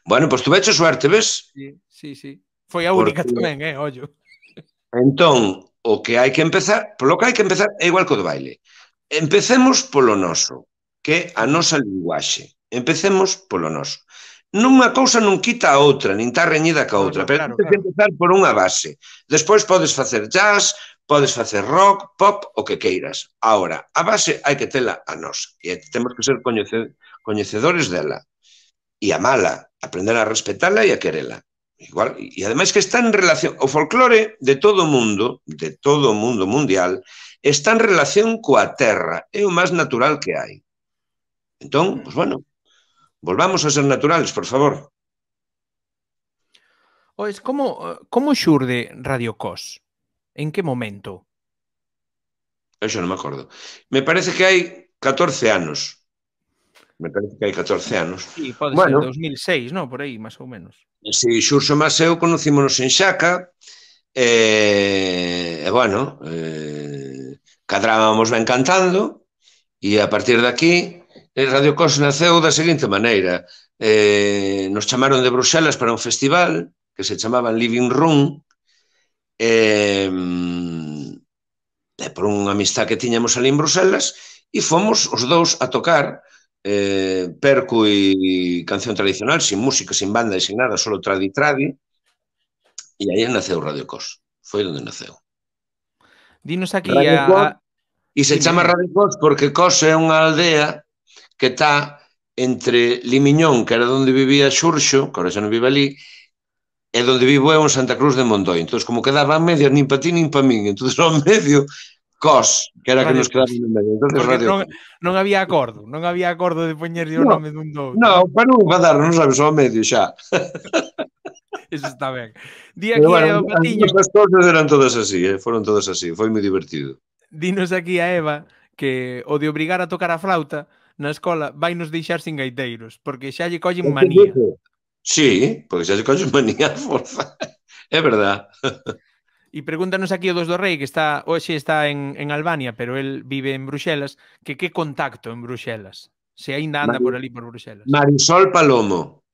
Speaker 2: Bueno, pois tu veche suerte, ves?
Speaker 1: Sí, sí, sí. Foi a única
Speaker 2: Porque...
Speaker 1: tamén, eh, ollo.
Speaker 2: Entón, o que hai que empezar, polo que hai que empezar é igual que o do baile. Empecemos polo noso, que é a nosa linguaxe. Empecemos polo noso. Nunha cousa non quita a outra, nin está reñida ca outra, no, no, pero claro, tens que empezar por unha base. Despois podes facer jazz, podes facer rock, pop, o que queiras. Ahora, a base hai que tela a nosa, e temos que ser coñecedores dela, e amala, aprender a respetala e a querela. Igual, e ademais que está en relación, o folclore de todo o mundo, de todo o mundo mundial, está en relación coa terra, é o máis natural que hai. Entón, pois bueno, volvamos a ser naturales, por favor.
Speaker 1: Pois, como, como xurde Radio Cos? En que momento?
Speaker 2: Eu xa non me acordo. Me parece que hai catorce anos. Me parece que hai catorce anos.
Speaker 1: Sí, pode
Speaker 2: bueno,
Speaker 1: ser dos mil seis, non? Por aí, máis ou menos.
Speaker 2: Si, Xurxo máis eu conocímonos en Xaca, e, e bueno, eh, cadrábamos ben cantando, e a partir de aquí, Radio Cos naceu da seguinte maneira. Eh, nos chamaron de Bruxelas para un festival que se chamaba Living Room, e, e por unha amistad que tiñamos ali en Bruxelas, e fomos os dous a tocar eh, percu e canción tradicional, sin música, sin banda e sin nada, solo tradi-tradi, e aí naceu Radio Cos. Foi onde naceu.
Speaker 1: Dinos aquí Radio a... Cos,
Speaker 2: e se Dime. chama Radio Cos porque Cos é unha aldea que está entre Limiñón, que era onde vivía Xurxo, que agora xa non vive ali, e onde vivo eu en Santa Cruz de Mondoi. Entón, como quedaba a medias, nin pa ti, nin pa min. Entón, ao medio, Cos, que era Radio que nos quedaba no medio. Entón, Radio
Speaker 1: non, non había acordo, non había acordo de poñerlle o nome dun do outro.
Speaker 2: Non, para non enfadar, non sabes, ao medio xa.
Speaker 1: Eso está ben. Di aquí bueno, a Eva Patiño...
Speaker 2: As cousas eran todas así, eh? Foron todas así, foi moi divertido.
Speaker 1: Dinos aquí a Eva que o de obrigar a tocar a flauta na escola vai nos deixar sin gaiteiros, porque xa lle collen manía.
Speaker 2: Sí, porque xa lle collen manía a forza. É verdad.
Speaker 1: E pregúntanos aquí o dos do Rei, que está hoxe está en, en Albania, pero el vive en Bruxelas, que que contacto en Bruxelas? Se aínda anda Mar... por ali por Bruxelas.
Speaker 2: Marisol Palomo.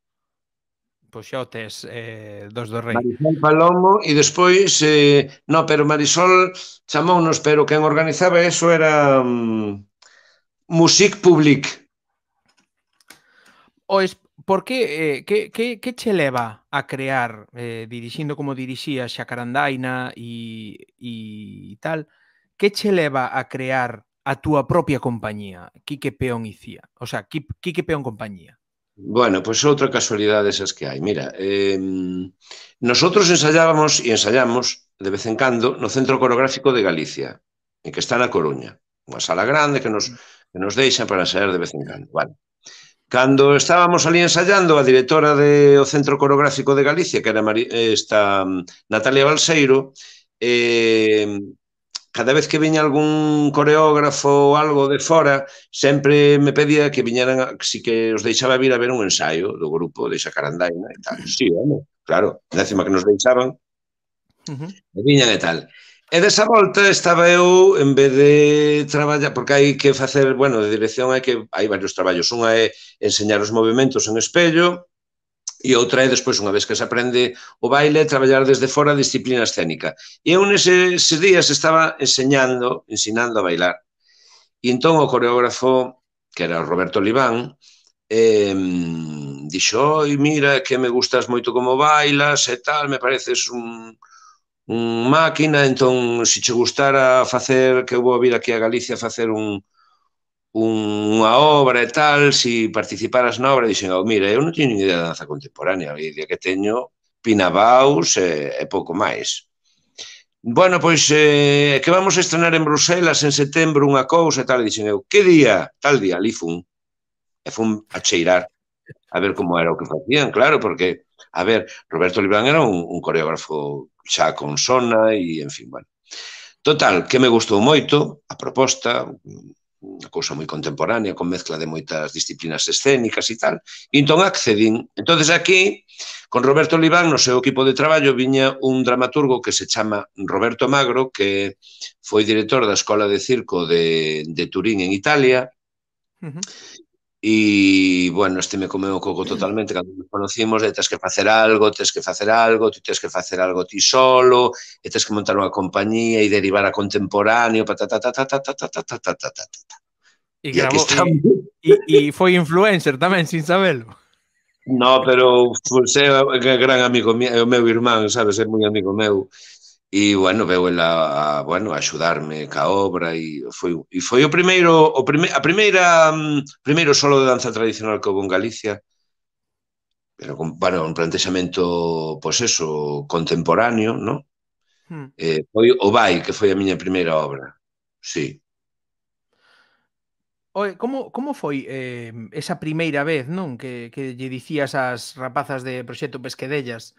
Speaker 1: pois xa o tes eh, dos do Rei.
Speaker 2: Marisol Palomo e despois, eh, no, pero Marisol chamounos, pero quen organizaba eso era um, Music Public.
Speaker 1: Ois, por que, eh, que, que, que che leva a crear, eh, dirixindo como dirixía Xacarandaina e, e tal, que che leva a crear a túa propia compañía, Quique Peón Icía? O sea, Quique Peón Compañía.
Speaker 2: Bueno, pois pues outra casualidade esas que hai. Mira, eh, nosotros ensayábamos e ensayamos de vez en cando no Centro Coreográfico de Galicia, e que está na Coruña. Unha sala grande que nos, que nos deixa para ensayar de vez en cando. Vale. Cando estábamos ali ensayando, a directora do Centro Coreográfico de Galicia, que era Mari, esta Natalia Balseiro, eh, cada vez que viña algún coreógrafo ou algo de fora, sempre me pedía que viñeran, si que os deixaba vir a ver un ensaio do grupo de Xacarandaina e tal. Sí, home, claro, décima que nos deixaban, uh-huh. E viñan e tal. E desa volta estaba eu, en vez de traballar, porque hai que facer, bueno, de dirección hai que hai varios traballos. Unha é enseñar os movimentos en espello e outra é, despois, unha vez que se aprende o baile, traballar desde fora a disciplina escénica. E eu neses días estaba enseñando, ensinando a bailar. E entón o coreógrafo, que era o Roberto Libán, eh, dixo, oi, mira, que me gustas moito como bailas e tal, me pareces un... un máquina, entón, se che gustara facer, que eu vou vir aquí a Galicia a facer un, un, unha obra e tal, se participaras na obra, dixen, oh, mira, eu non teño ni idea de danza contemporánea, a idea que teño pinabaus e, e pouco máis. Bueno, pois, eh, que vamos a estrenar en Bruselas en setembro unha cousa e tal, e dixen eu, que día? Tal día, ali fun, e fun a cheirar, a ver como era o que facían, claro, porque, a ver, Roberto Libán era un, un coreógrafo xa con sona e, en fin, bueno. Total, que me gustou moito a proposta, unha cousa moi contemporánea, con mezcla de moitas disciplinas escénicas e tal, e entón accedín. Entonces aquí, con Roberto Libán, no seu equipo de traballo, viña un dramaturgo que se chama Roberto Magro, que foi director da Escola de Circo de, de Turín en Italia, uh-huh. E, bueno, este me comeu o coco totalmente cando nos conocimos, de tens que facer algo, tens que facer algo, ti tens que facer algo ti solo, e tens que montar unha compañía e derivar a contemporáneo, patatatatatatatatatatatatatata.
Speaker 1: E grabou, e foi influencer tamén, sin sabelo.
Speaker 2: No, pero é gran amigo mío, é o meu irmán, sabes, é moi amigo meu. E, bueno, veu ela a, bueno, a axudarme ca obra e foi, e foi o primeiro, o prime, a primeira, um, primeiro solo de danza tradicional que houve en Galicia, pero con, bueno, un plantexamento, pois pues eso, contemporáneo, ¿no? Hmm. Eh, foi o Vai, que foi a miña primeira obra, sí.
Speaker 1: Oye, como, como foi eh, esa primeira vez, non? Que, que lle dicías ás rapazas de Proxecto Pesquedellas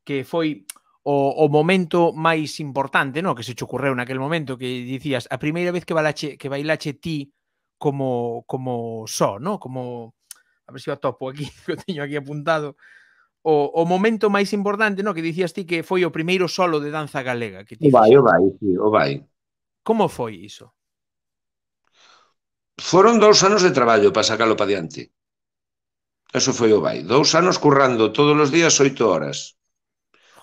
Speaker 1: que foi o, o momento máis importante, no, que se che ocorreu naquel momento, que dicías a primeira vez que bailache, que bailache ti como como só, no? Como, a ver se o topo aquí, que o teño aquí apuntado, o, o momento máis importante, no, que dicías ti que foi o primeiro solo de danza galega que ti
Speaker 2: o vai, o vai, sí, o vai.
Speaker 1: Como foi iso?
Speaker 2: Foron dous anos de traballo para sacalo para diante. Eso foi o vai. Dous anos currando todos os días oito horas.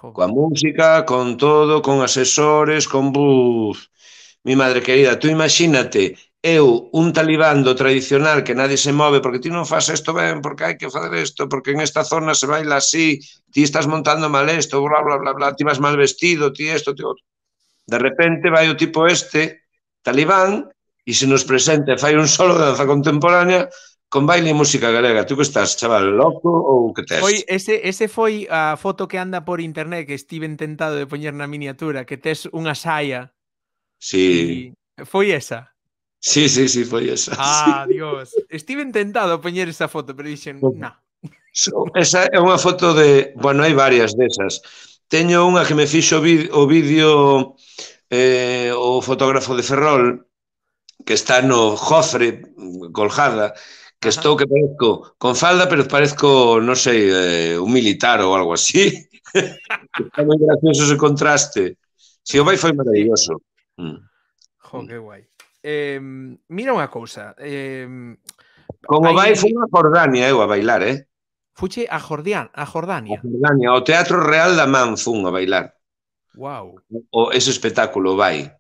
Speaker 2: Coa música, con todo, con asesores, con buf. Mi madre querida, tú imagínate, eu, un talibán do tradicional que nadie se move porque ti non faz isto ben, porque hai que fazer isto, porque en esta zona se baila así, ti estás montando mal isto, bla, bla, bla, bla, ti vas mal vestido, ti isto, ti outro. De repente vai o tipo este, talibán, e se nos presenta e fai un solo de danza contemporánea con baile e música galega. Tú que estás, chaval, loco ou que tes?
Speaker 1: Foi, ese, ese foi a foto que anda por internet que estive tentado de poñer na miniatura, que tes unha saia.
Speaker 2: Sí.
Speaker 1: E foi esa?
Speaker 2: Sí, sí, sí, foi esa.
Speaker 1: Ah,
Speaker 2: sí.
Speaker 1: Dios. Estive tentado poñer esa foto, pero dixen, na.
Speaker 2: Esa é unha foto de... Bueno, hai varias desas. Teño unha que me fixo o vídeo eh, o fotógrafo de Ferrol, que está no Jofre, colgada, que Ajá. Estou que parezco con falda, pero parezco, non sei, eh, un militar ou algo así. Está moi gracioso ese contraste. Si, o vai foi maravilloso.
Speaker 1: Mm. Jo, que guai. Eh, mira unha cousa. Eh,
Speaker 2: con o vai foi unha Jordania, eu a bailar, eh?
Speaker 1: Fuche a Jordania, a
Speaker 2: A
Speaker 1: Jordania.
Speaker 2: Jordania, ao Teatro Real da Man fun a bailar.
Speaker 1: Wow.
Speaker 2: O, ese espectáculo vai.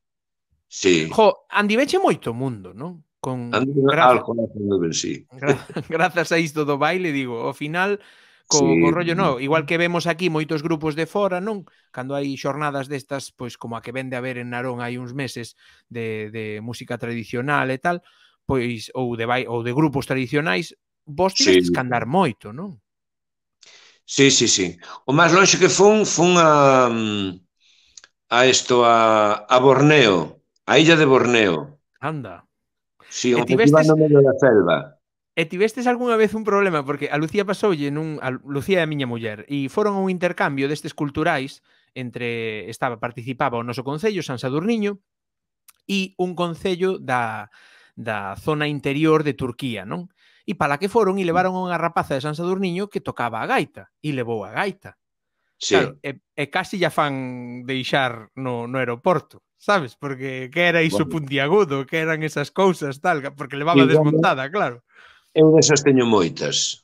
Speaker 2: Sí.
Speaker 1: Jo, andiveche moito o mundo, non? Con
Speaker 2: Ando
Speaker 1: graza,
Speaker 2: algo facendo ben, sí.
Speaker 1: gra, grazas a isto do baile, digo, ao final co, co
Speaker 2: Sí.
Speaker 1: rollo, no, igual que vemos aquí moitos grupos de fora, non? Cando hai xornadas destas, pois como a que vende a ver en Narón hai uns meses de, de música tradicional e tal, pois ou de ou de grupos tradicionais, vos
Speaker 2: Sí.
Speaker 1: tivestes que andar moito, non?
Speaker 2: Sí, sí, sí. O máis lonxe que fun, fun a a isto, a, a Borneo, a illa de Borneo.
Speaker 1: Anda.
Speaker 2: Sí,
Speaker 1: E
Speaker 2: un festival
Speaker 1: tivestes
Speaker 2: no medio da selva.
Speaker 1: E tivestes algunha vez un problema, porque a Lucía pasoulle nun, a Lucía é a miña muller, e foron a un intercambio destes culturais entre, estaba, participaba o noso concello, San Sadurniño, e un concello da, da zona interior de Turquía, non? E para que foron e levaron a unha rapaza de San Sadurniño que tocaba a gaita, e levou a gaita. Claro,
Speaker 2: Sí.
Speaker 1: e, e casi ya fan deixar no, no aeroporto, sabes? Porque que era iso
Speaker 2: Bueno.
Speaker 1: puntiagudo, que eran esas cousas, tal, porque levaba
Speaker 2: Sí, bueno,
Speaker 1: desmontada, claro.
Speaker 2: eu desas teño moitas.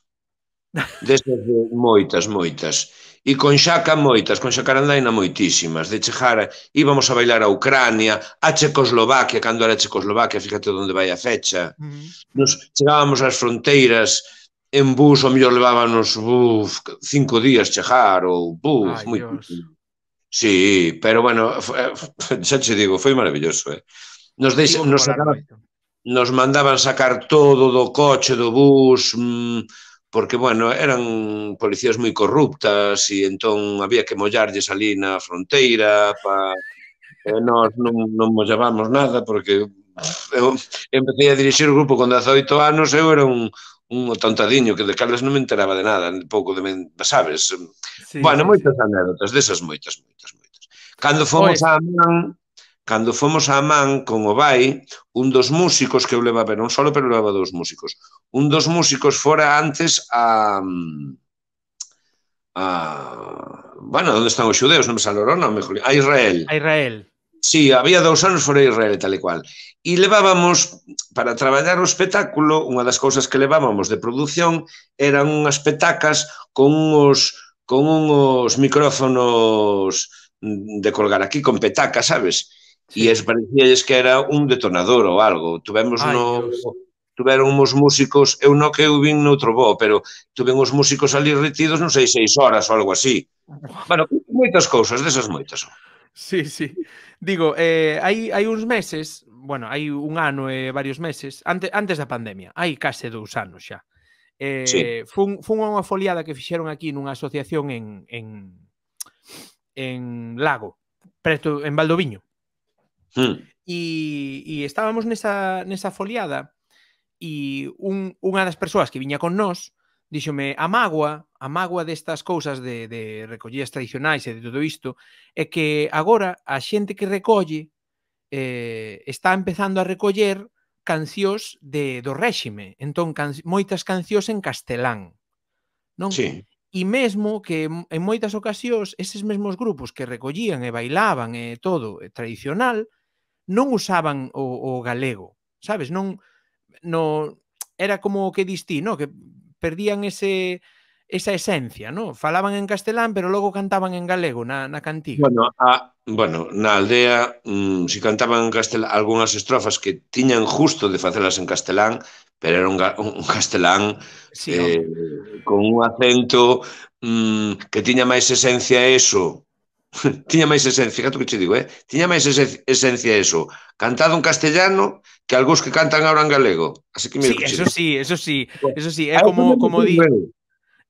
Speaker 2: Desas de moitas, moitas. E con Xaca moitas, con Xacarandaina moitísimas. De chegar, íbamos a bailar a Ucrania, a Checoslovaquia, cando era Checoslovaquia, fíjate onde vai a fecha.
Speaker 1: Uh -huh.
Speaker 2: Nos chegábamos ás fronteiras en bus, o mellor levábamos uf, cinco días chegar, ou buf,
Speaker 1: Ay,
Speaker 2: moi...
Speaker 1: Dios.
Speaker 2: Sí, pero bueno, xa che digo, foi maravilloso, eh? Nos, deixa,
Speaker 1: Tivo que
Speaker 2: nos,
Speaker 1: molar
Speaker 2: sacaba,
Speaker 1: moito.
Speaker 2: nos mandaban sacar todo do coche, do bus, mmm, porque, bueno, eran policías moi corruptas e entón había que mollarlles ali na fronteira, pa... e nós non, non mollábamos nada porque eu empecé a dirixir o grupo con dezaoito anos, eu era un, un tontadiño que de cales non me enteraba de nada, pouco de, sabes?
Speaker 1: Sí,
Speaker 2: Bueno,
Speaker 1: sí,
Speaker 2: moitas
Speaker 1: sí.
Speaker 2: anécdotas, desas moitas, moitas, moitas. Cando fomos
Speaker 1: Pues,
Speaker 2: a Man, cando fomos a Man con o Vai, un dos músicos que eu levaba, non solo, pero levaba dous músicos. Un dos músicos fora antes a... a bueno, onde están os xudeus? Non me sale o nome, a Israel.
Speaker 1: a Israel.
Speaker 2: Sí, había dous anos fora Israel e tal e cual. E levábamos, para traballar o espectáculo, unha das cousas que levábamos de produción eran unhas petacas con uns, con uns micrófonos de colgar aquí, con petacas, sabes? E
Speaker 1: Sí.
Speaker 2: es parecíalles que era un detonador ou algo. Tuvemos
Speaker 1: Ay,
Speaker 2: no...
Speaker 1: Dios.
Speaker 2: Tuveron uns músicos, eu no que eu vin noutro bo, pero tuven uns músicos ali retidos, non sei, seis horas ou algo así. Bueno, moitas cousas, desas moitas son.
Speaker 1: Sí, sí. Digo, eh, hai, hai uns meses, bueno, hai un ano e varios meses, antes, antes da pandemia, hai case dous anos xa. Eh,
Speaker 2: Sí.
Speaker 1: fun, fun a unha foliada que fixeron aquí nunha asociación en, en, en Lago, preto, en Valdoviño.
Speaker 2: Hmm.
Speaker 1: E, e estábamos nesa, nesa foliada e un, unha das persoas que viña con nós díxome, a mágoa, a mágoa destas cousas de, de recollías tradicionais e de todo isto, é que agora a xente que recolle eh, está empezando a recoller cancións de, do réxime, entón can, moitas cancións en castelán, non?
Speaker 2: Sí.
Speaker 1: E mesmo que en moitas ocasións eses mesmos grupos que recollían e bailaban e todo e tradicional non usaban o, o galego, sabes? Non, no, era como que distí, no? Que perdían ese esa esencia, ¿no? Falaban en castelán, pero logo cantaban en galego na, na cantiga.
Speaker 2: Bueno, a, bueno, na aldea, mmm, si cantaban en castelán, algunhas estrofas que tiñan justo de facelas en castelán, pero era un, un castelán
Speaker 1: Sí,
Speaker 2: eh,
Speaker 1: home.
Speaker 2: con un acento mmm, que tiña máis esencia eso. Tiña máis esencia, fíjate o que che digo, eh? Tiña máis esencia eso, cantado en castellano, que algúns que cantan ahora en galego. Así que mira
Speaker 1: Sí,
Speaker 2: que che
Speaker 1: eso
Speaker 2: digo.
Speaker 1: sí, eso sí, eso sí, é
Speaker 2: Aí
Speaker 1: como, como di...
Speaker 2: di...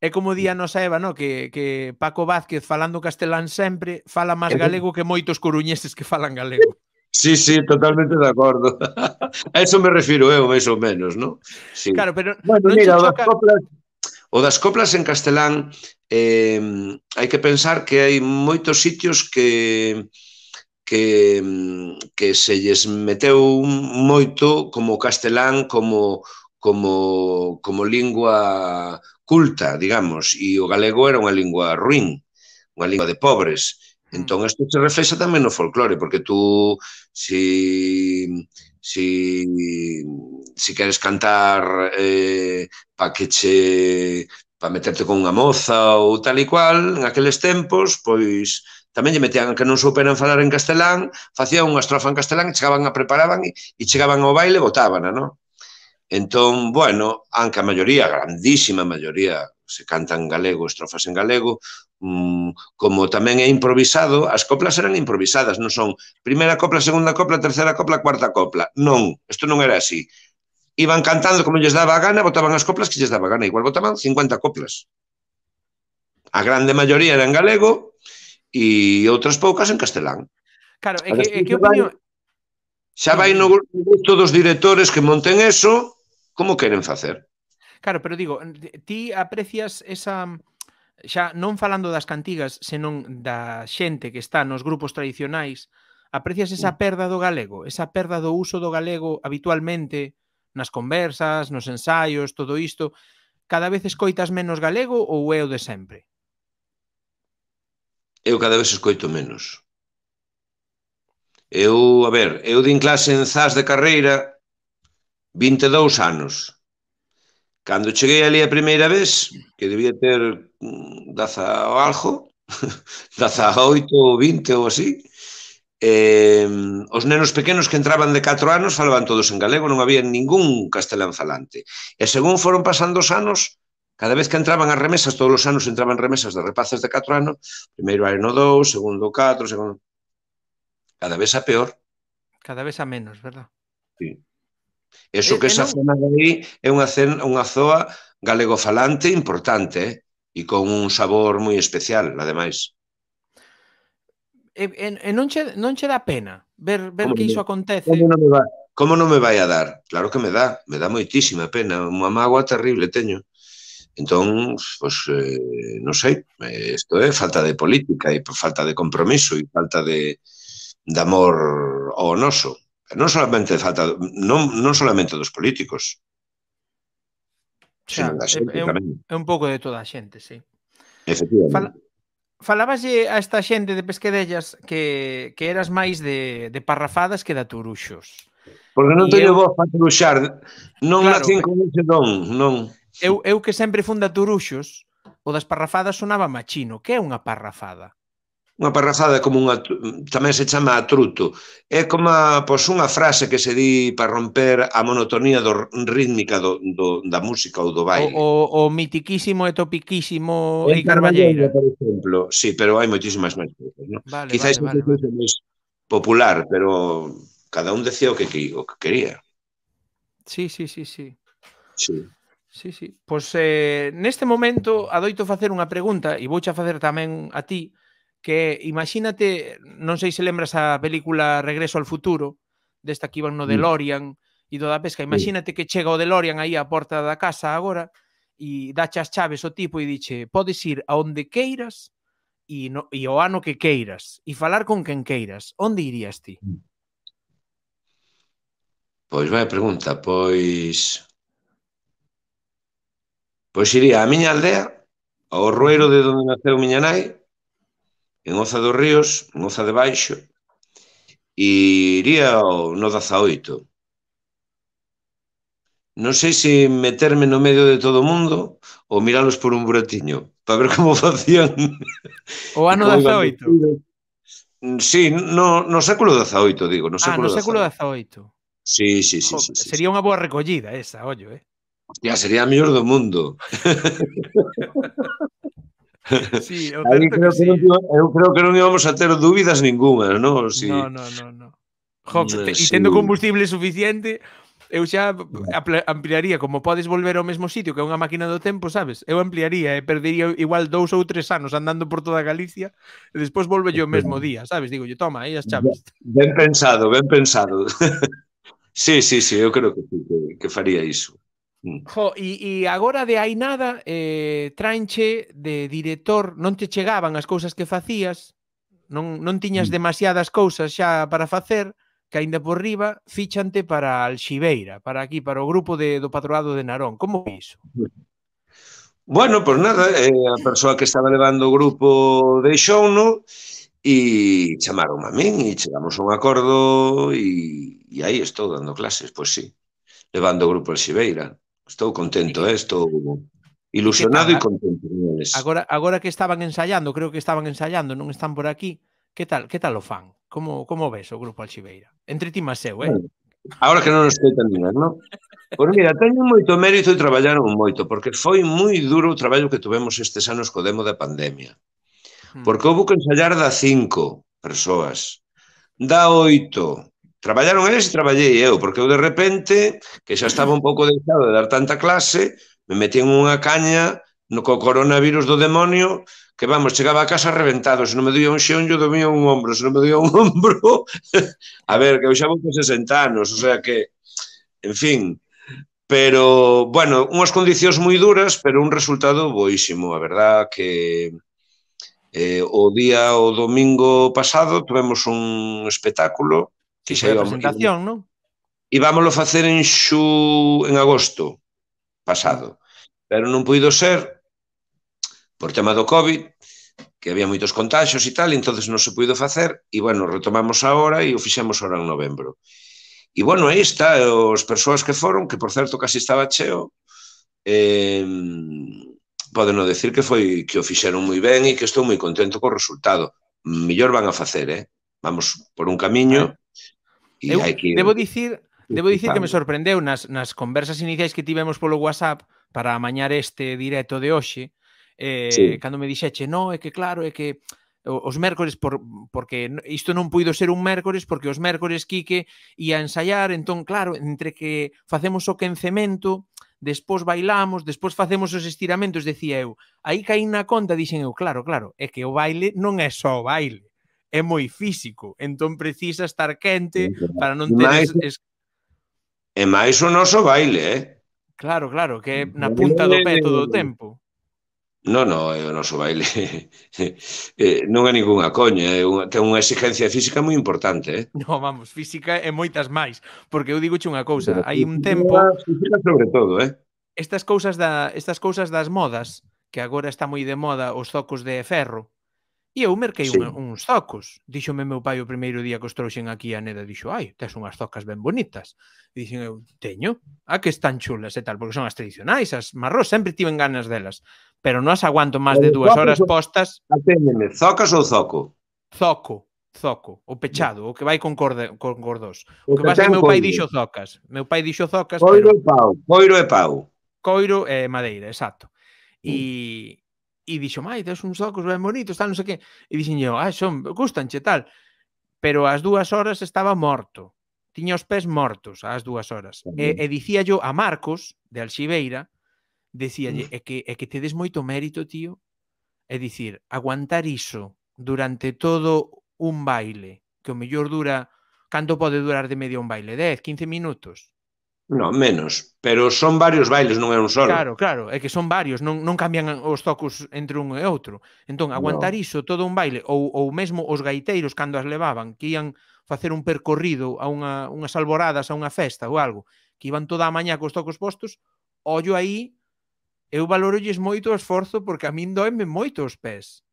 Speaker 1: É como di a nosa Eva, no? que, que Paco Vázquez falando castelán sempre fala máis galego que moitos coruñeses que falan galego.
Speaker 2: Sí, sí, totalmente de acordo. A eso me refiro eu, máis ou menos, ¿no? Sí.
Speaker 1: Claro, pero
Speaker 2: bueno,
Speaker 1: non
Speaker 2: mira,
Speaker 1: che
Speaker 2: o das
Speaker 1: choca...
Speaker 2: coplas, o das coplas en castelán eh, hai que pensar que hai moitos sitios que que, que se lles meteu moito como castelán como como como lingua culta, digamos, e o galego era unha lingua ruín, unha lingua de pobres. Entón, isto se reflexa tamén no folclore, porque tú, si, si, si queres cantar eh, pa que che para meterte con unha moza ou tal e cual, en aqueles tempos, pois tamén lle metían que non souperan falar en castelán, facían unha estrofa en castelán e chegaban a preparaban e, e chegaban ao baile e botábana, non? Entón, bueno, aunque a maioría, a grandísima maioría, se cantan galego, estrofas en galego, mmm, como tamén é improvisado, as coplas eran improvisadas, non son primeira copla, segunda copla, terceira copla, cuarta copla. Non, isto non era así. Iban cantando como lles daba a gana, botaban as coplas que lles daba a gana. Igual botaban cincuenta coplas. A grande maioría era en galego e outras poucas en castelán.
Speaker 1: Claro, é que, é que opinión...
Speaker 2: Xa vai no gusto dos directores que monten eso, como queren facer.
Speaker 1: Claro, pero digo, ti aprecias esa... Xa non falando das cantigas, senón da xente que está nos grupos tradicionais, aprecias esa perda do galego, esa perda do uso do galego habitualmente nas conversas, nos ensaios, todo isto, cada vez escoitas menos galego ou é o de sempre?
Speaker 2: Eu cada vez escoito menos. Eu, a ver, eu din clase en Zas de carreira vinte e dous anos. Cando cheguei ali a primeira vez, que debía ter daza o algo, daza oito ou vinte ou así, eh, os nenos pequenos que entraban de catro anos falaban todos en galego, non había ningún castelán falante. E según foron pasando os anos, cada vez que entraban as remesas, todos os anos entraban remesas de rapazas de catro anos, primeiro ano dous, segundo catro, segundo... Cada vez a peor.
Speaker 1: Cada vez a menos, verdad?
Speaker 2: Sí. Eso que esa zona de aí é unha, unha zoa galegofalante importante, eh? E con un sabor moi especial, ademais.
Speaker 1: E, e non, che, non che dá pena ver, ver que iso acontece?
Speaker 2: Como non, me vai, como non me vai a dar? Claro que me dá, me dá moitísima pena, unha mágoa terrible teño. Entón, pues, eh, non sei, isto é falta de política e falta de compromiso e falta de, de amor ao noso. Non solamente falta, non, non solamente dos políticos,
Speaker 1: xa,
Speaker 2: da xente
Speaker 1: é,
Speaker 2: tamén.
Speaker 1: É un pouco de toda a xente, sí.
Speaker 2: Efectivamente.
Speaker 1: Fala, falábaslle a esta xente de Pesquedellas que, que eras máis de, de parrafadas que de aturuxos.
Speaker 2: Porque non teño eu... voz para aturuxar, non claro, nacín con ese don, non.
Speaker 1: Eu, eu que sempre fun de aturuxos, o das parrafadas sonaba machino. Que é unha parrafada?
Speaker 2: Unha parrafada é como unha, tamén se chama atruto. É como a, pois, unha frase que se di para romper a monotonía do, rítmica do, do, da música ou do baile.
Speaker 1: O, o, o mitiquísimo e topiquísimo e Carballeira.
Speaker 2: Por exemplo, sí, pero hai moitísimas máis cousas, non?
Speaker 1: Vale,
Speaker 2: Quizás
Speaker 1: vale, vale, vale.
Speaker 2: máis popular, pero cada un decía o que, o que quería.
Speaker 1: Sí, sí, sí, sí.
Speaker 2: Sí.
Speaker 1: Sí, sí. Pois eh, neste momento adoito facer unha pregunta e vouche a facer tamén a ti, que imagínate, non sei se lembras a película Regreso al futuro, desta que iban no DeLorean e toda a pesca, imagínate que chega o DeLorean aí á porta da casa agora e dache as chaves o tipo e diche, podes ir a onde queiras e, no, e o ano que queiras e falar con quen queiras, onde irías ti?
Speaker 2: Pois vai pregunta, pois... Pois iría á miña aldea, ao Rueiro de onde naceu miña nai, en Oza dos Ríos, en Oza de Baixo, e iría ao no dezaoito. Non sei se meterme no medio de todo o mundo ou miralos por un buratiño, para ver como facían.
Speaker 1: O ano dezaoito?
Speaker 2: Sí, no, no século dezaoito, digo. No século
Speaker 1: ah, no século dezaoito.
Speaker 2: Sí, sí, sí.
Speaker 1: Jo,
Speaker 2: sí, sí
Speaker 1: sería
Speaker 2: sí.
Speaker 1: unha boa recollida esa, ollo, eh?
Speaker 2: Ya, sería a mellor do mundo.
Speaker 1: Sí, o certo que sí.
Speaker 2: Non, eu creo que non íbamos a ter dúbidas ningunha, non? Si...
Speaker 1: No, no, no, no. Jo, te, sí. E tendo combustible suficiente, eu xa ampliaría, como podes volver ao mesmo sitio, que é unha máquina do tempo, sabes? Eu ampliaría e perdería igual dous ou tres anos andando por toda Galicia e despois volve o mesmo día, sabes? Digo, yo, toma, aí as chaves.
Speaker 2: Ben pensado, ben pensado. Sí, sí, sí, eu creo que, que, que faría iso.
Speaker 1: Jo, e, e agora de hai nada eh, traenche de director, non te chegaban as cousas que facías, non, non tiñas demasiadas cousas xa para facer, que aínda por riba fichante para Alxibeira, para aquí, para o grupo de, do Patroado de Narón. Como foi iso?
Speaker 2: Bueno, pois pues nada, eh, a persoa que estaba levando o grupo deixouno e chamaron a min e chegamos a un acordo e, e aí estou dando clases, pois pues sí, levando o grupo Alxibeira. Estou contento, eh? Estou... ilusionado e contento con eles.
Speaker 1: Agora, agora que estaban ensayando, creo que estaban ensayando, non están por aquí, que tal, que tal o fan? Como, como ves o grupo Alxibeira? Entre ti máis eu, eh?
Speaker 2: Bueno, agora que non nos escoitan ninguén, non? Pois mira, teñen moito mérito e traballaron moito, porque foi moi duro o traballo que tuvemos estes anos co demo da pandemia. Porque houve que ensayar da cinco persoas, da oito. Traballaron eles e traballei eu, porque eu de repente, que xa estaba un pouco deixado de dar tanta clase, me metí en unha caña no co coronavirus do demonio, que vamos, chegaba a casa reventado, se non me doía un xeonllo, doía un ombro, se non me doía un ombro, a ver, que eu xa vou con sesenta anos, o sea que, en fin, pero, bueno, unhas condicións moi duras, pero un resultado boísimo, a verdad que eh, o día, o domingo pasado, tuvemos un espectáculo,
Speaker 1: que foi a presentación, non?
Speaker 2: E vámoslo facer en xu, en agosto pasado, pero non puido ser por tema do COVID, que había moitos contagios e tal, e entonces non se puido facer, e, bueno, retomamos agora e o fixemos agora en novembro. E, bueno, aí está, as persoas que foron, que, por certo, casi estaba cheo, eh, poden non decir que foi que o fixeron moi ben e que estou moi contento co resultado. Mellor van a facer, eh? Vamos por un camiño e hai que...
Speaker 1: Debo dicir... Debo dicir que me sorprendeu nas, nas conversas iniciais que tivemos polo WhatsApp para amañar este directo de hoxe, eh, sí. Cando me dixeche, no, é que claro, é que os mércores, por, porque isto non puido ser un mércores, porque os mércores Quique ia ensaiar, entón, claro, entre que facemos o quencemento, despois bailamos, despois facemos os estiramentos, decía eu, aí caí na conta, dixen eu, claro, claro, é que o baile non é só o baile, é moi físico, entón precisa estar quente para non ter... Es, es...
Speaker 2: E máis o noso baile, eh?
Speaker 1: Claro, claro, que é na punta do pé todo o tempo.
Speaker 2: Non, non, o noso baile eh, non é ninguna coña, é unha, ten unha exigencia física moi importante, eh?
Speaker 1: Non, vamos, física e moitas máis, porque eu digoche unha cousa, hai un tempo...
Speaker 2: Física sobre todo, eh?
Speaker 1: Estas cousas, da, estas cousas das modas, que agora está moi de moda os zocos de ferro, e eu merquei sí. un, uns zocos. Díxome meu pai o primeiro día que os trouxen aquí a Neda, dixo, ai, tes unhas zocas ben bonitas. E dixen eu, teño, a que están chulas e tal, porque son as tradicionais, as marrós, sempre tiven ganas delas, pero non as aguanto máis de dúas horas postas.
Speaker 2: Aténdeme, zocas ou zoco?
Speaker 1: Zoco, zoco, o pechado, o que vai con, corde, con cordós. O que pasa é que meu pai dixo zocas. Meu pai dixo zocas,
Speaker 2: coiro
Speaker 1: pero...
Speaker 2: e pau, coiro e pau.
Speaker 1: Coiro e madeira, exacto. E... E dixo, mai, tes uns zocos ben bonitos, tal, non sei que. E dixen eu, ah, son, gustanche, tal. Pero ás dúas horas estaba morto. Tiña os pés mortos ás dúas horas. E, e dicía yo a Marcos, de Alxibeira, decíalle, é que, é que tedes moito mérito, tío. É dicir, aguantar iso durante todo un baile, que o mellor dura, canto pode durar de media un baile? dez, quince minutos?
Speaker 2: Non, menos, pero son varios bailes, non é un solo.
Speaker 1: Claro, claro, é que son varios, non, non cambian os zocos entre un e outro. Entón, aguantar no. iso todo un baile, ou, ou mesmo os gaiteiros cando as levaban, que ian facer un percorrido a unha, unhas alboradas, a unha festa ou algo, que iban toda a mañá cos zocos postos, ollo aí, eu valorolles moito o esforzo porque a min doenme moito os pés.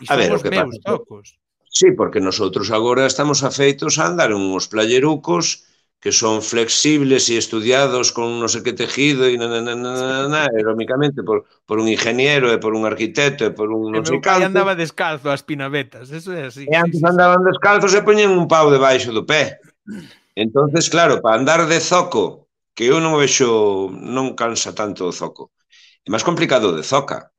Speaker 1: E son ver, os meus pasa, zocos.
Speaker 2: Sí, porque nosotros agora estamos afeitos a andar uns playerucos que son flexibles e estudiados con non sei que tejido e nananana, aerómicamente por, por un ingeniero e por un arquitecto e por un non sei
Speaker 1: canto. E meu pai andaba descalzo ás pinabetas, eso é así.
Speaker 2: E antes sí, sí, andaban descalzos e poñen un pau debaixo do pé. Entonces, claro, para andar de zoco, que eu non vexo, non cansa tanto o zoco. É máis complicado de zoca.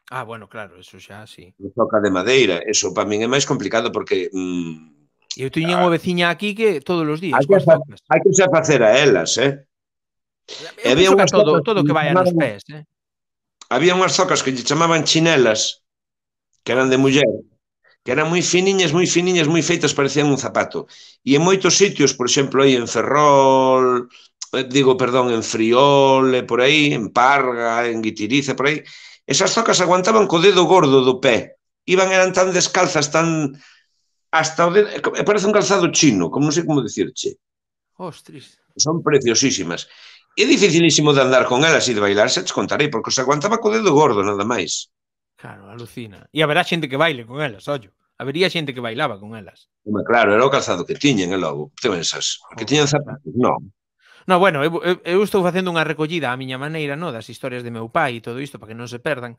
Speaker 1: Ah, bueno, claro, eso xa, sí.
Speaker 2: De zoca de madeira, eso para min é máis complicado porque... Mmm,
Speaker 1: E eu tiña unha veciña aquí que todos os días.
Speaker 2: Hai que, hai que xa facer a elas, eh?
Speaker 1: Eu penso que todo, todo que vai a nos pés, eh?
Speaker 2: Había unhas zocas que lle chamaban chinelas, que eran de muller, que eran moi finiñas, moi finiñas, moi feitas, parecían un zapato. E en moitos sitios, por exemplo, aí en Ferrol, digo, perdón, en Friol, por aí, en Parga, en Guitiriza, por aí, esas zocas aguantaban co dedo gordo do pé. Iban, eran tan descalzas, tan... hasta o dedo, parece un calzado chino, como non sei como dicirche.
Speaker 1: Ostras.
Speaker 2: Son preciosísimas. É dificilísimo de andar con elas e de bailar, xa te contarei, porque se aguantaba co dedo gordo, nada máis.
Speaker 1: Claro, alucina. E haberá xente que baile con elas, ollo. Habería xente que bailaba con elas.
Speaker 2: Claro, era o calzado que tiñen, e logo, te pensas, que tiñan zapatos, non.
Speaker 1: No, bueno, eu, eu, eu estou facendo unha recollida á miña maneira, no, das historias de meu pai e todo isto para que non se perdan.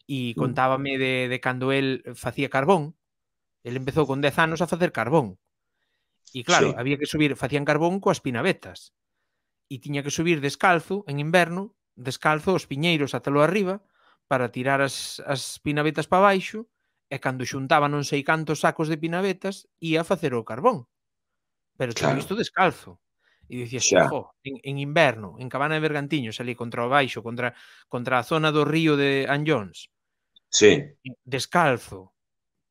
Speaker 1: E contábame de, de cando el facía carbón. El empezou con dez anos a facer carbón. E claro,
Speaker 2: Sí,
Speaker 1: había que subir, facían carbón coas pinavetas. E tiña que subir descalzo en inverno, descalzo os piñeiros ata lo arriba para tirar as, as pinavetas para baixo e cando xuntaba non sei cantos sacos de pinavetas ia a facer o carbón. Pero todo
Speaker 2: claro,
Speaker 1: isto descalzo. E dicías,
Speaker 2: xa,
Speaker 1: jo, en, en inverno, en Cabana de Bergantiños, ali contra o baixo, contra, contra a zona do río de Anllóns,
Speaker 2: sí,
Speaker 1: descalzo,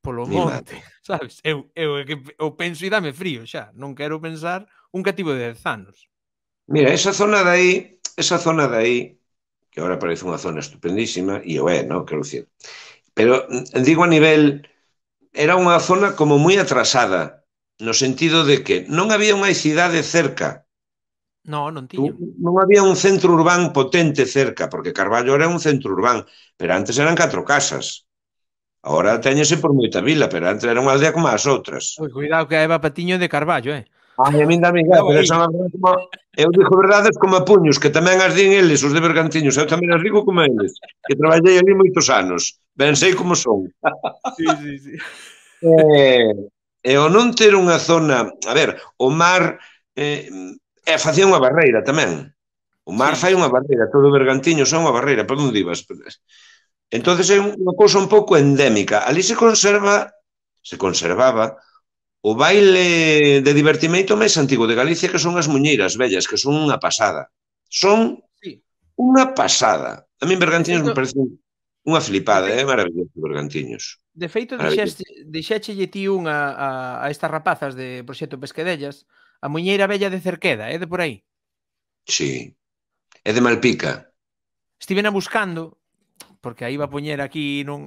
Speaker 1: polo
Speaker 2: mi
Speaker 1: monte,
Speaker 2: madre.
Speaker 1: sabes? Eu, eu, eu, eu penso e dame frío xa. Non quero pensar un cativo de dez anos.
Speaker 2: Mira, esa zona de aí, esa zona de aí, que ahora parece unha zona estupendísima, e o é, non? Quero dicir. Pero mm, digo a nivel, era unha zona como moi atrasada, no sentido de que non había unha cidade cerca.
Speaker 1: No, non
Speaker 2: Tú,
Speaker 1: tiñan.
Speaker 2: non había un centro urbán potente cerca, porque Carballo era un centro urbán, pero antes eran catro casas. Ahora
Speaker 1: Mm.
Speaker 2: téñese por moita vila, pero antes era unha aldea como as outras.
Speaker 1: Ui, cuidado que a Eva Patiño é de Carballo, eh?
Speaker 2: Ai, a min dame igual,
Speaker 1: Cuidado
Speaker 2: pero
Speaker 1: aí.
Speaker 2: son a verdade como... Eu digo verdades como a puños, que tamén as din eles, os de Bergantiños. Eu tamén as digo como eles, que traballei ali moitos anos. Ben sei como son.
Speaker 1: Sí, sí, sí.
Speaker 2: E, e o non ter unha zona... A ver, o mar... Eh, e facía unha barreira tamén. O mar
Speaker 1: Sí,
Speaker 2: fai
Speaker 1: sí.
Speaker 2: unha barreira, todo Bergantiños é unha barreira, por onde ibas? Entonces é unha cousa un pouco endémica. Ali se conserva, se conservaba o baile de divertimento máis antigo de Galicia, que son as muñeiras vellas, que son unha pasada. Son
Speaker 1: Sí.
Speaker 2: unha pasada. A min
Speaker 1: De
Speaker 2: Bergantiños
Speaker 1: feito,
Speaker 2: me parece unha
Speaker 1: de
Speaker 2: flipada,
Speaker 1: feito,
Speaker 2: é maravilloso Bergantiños.
Speaker 1: de feito
Speaker 2: Maravilloso.
Speaker 1: dixeste, dixéchelle ti unha a, a estas rapazas de Proxecto Pesquedellas, a muñeira bella de Cerqueda, é de por aí.
Speaker 2: Sí. É de Malpica.
Speaker 1: Estivena buscando, porque aí iba a poñer aquí nun,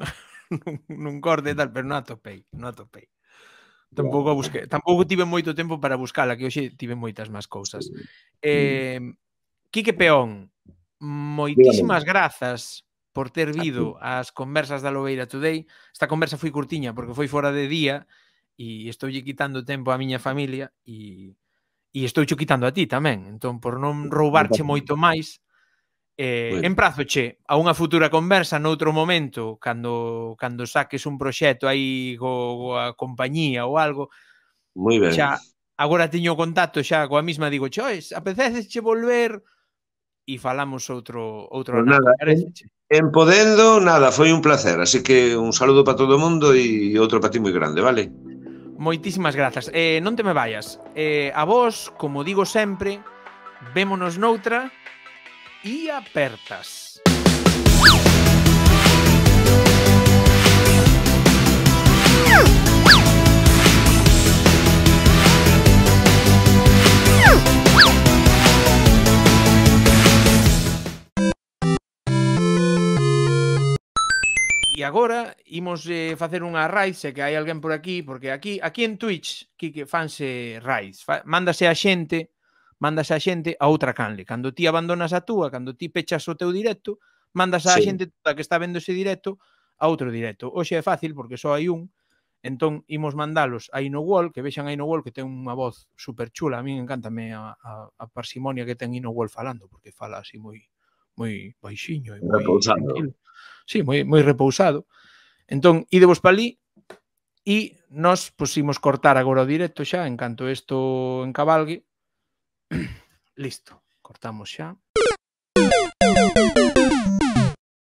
Speaker 1: nun, nun corte e tal, pero non atopei, non atopei. Tampouco a busquei, tampouco tive moito tempo para buscala, que hoxe tive moitas máis cousas. Eh, Quique Peón,
Speaker 2: Dígame.
Speaker 1: moitísimas grazas por ter vido ás conversas da Lobeira Today. Esta conversa foi curtiña porque foi fora de día e estoulle quitando tempo á miña familia e, e estouche quitando a ti tamén. Entón, por non roubarche moito máis, eh,
Speaker 2: Bueno,
Speaker 1: emprazoche a unha futura conversa noutro momento, cando, cando saques un proxecto aí co, coa compañía ou algo,
Speaker 2: moi ben.
Speaker 1: xa agora teño o contacto xa coa mesma, digo, chois, apeteceche volver e falamos outro outro
Speaker 2: Pues
Speaker 1: anaco,
Speaker 2: nada, en,
Speaker 1: pareceche?
Speaker 2: en Podendo, nada, foi un placer. Así que un saludo para todo o mundo e outro para ti moi grande, vale?
Speaker 1: Moitísimas grazas. Eh, non te me vayas. Eh, a vos, como digo sempre, vémonos noutra e apertas. E agora imos eh, facer unha raid, se que hai alguén por aquí, porque aquí aquí en Twitch, que, que fanse raids, fa, mándase a xente, mándase a xente a outra canle. Cando ti abandonas a túa, cando ti pechas o teu directo, mandas a
Speaker 2: Sí.
Speaker 1: xente toda que está vendo ese directo a outro directo. Hoxe é fácil porque só hai un, entón imos mandalos a Inowall, que vexan a Inowall, que ten unha voz super chula. A mí encántame a, a, a parsimonia que ten Inowall falando, porque fala así moi moi baixiño e moi
Speaker 2: Repousado.
Speaker 1: tranquilo. Sí, moi, moi repousado. Entón, idevos pa ali e nós pusimos cortar agora o directo xa, en canto isto encabalgue. Listo, cortamos xa.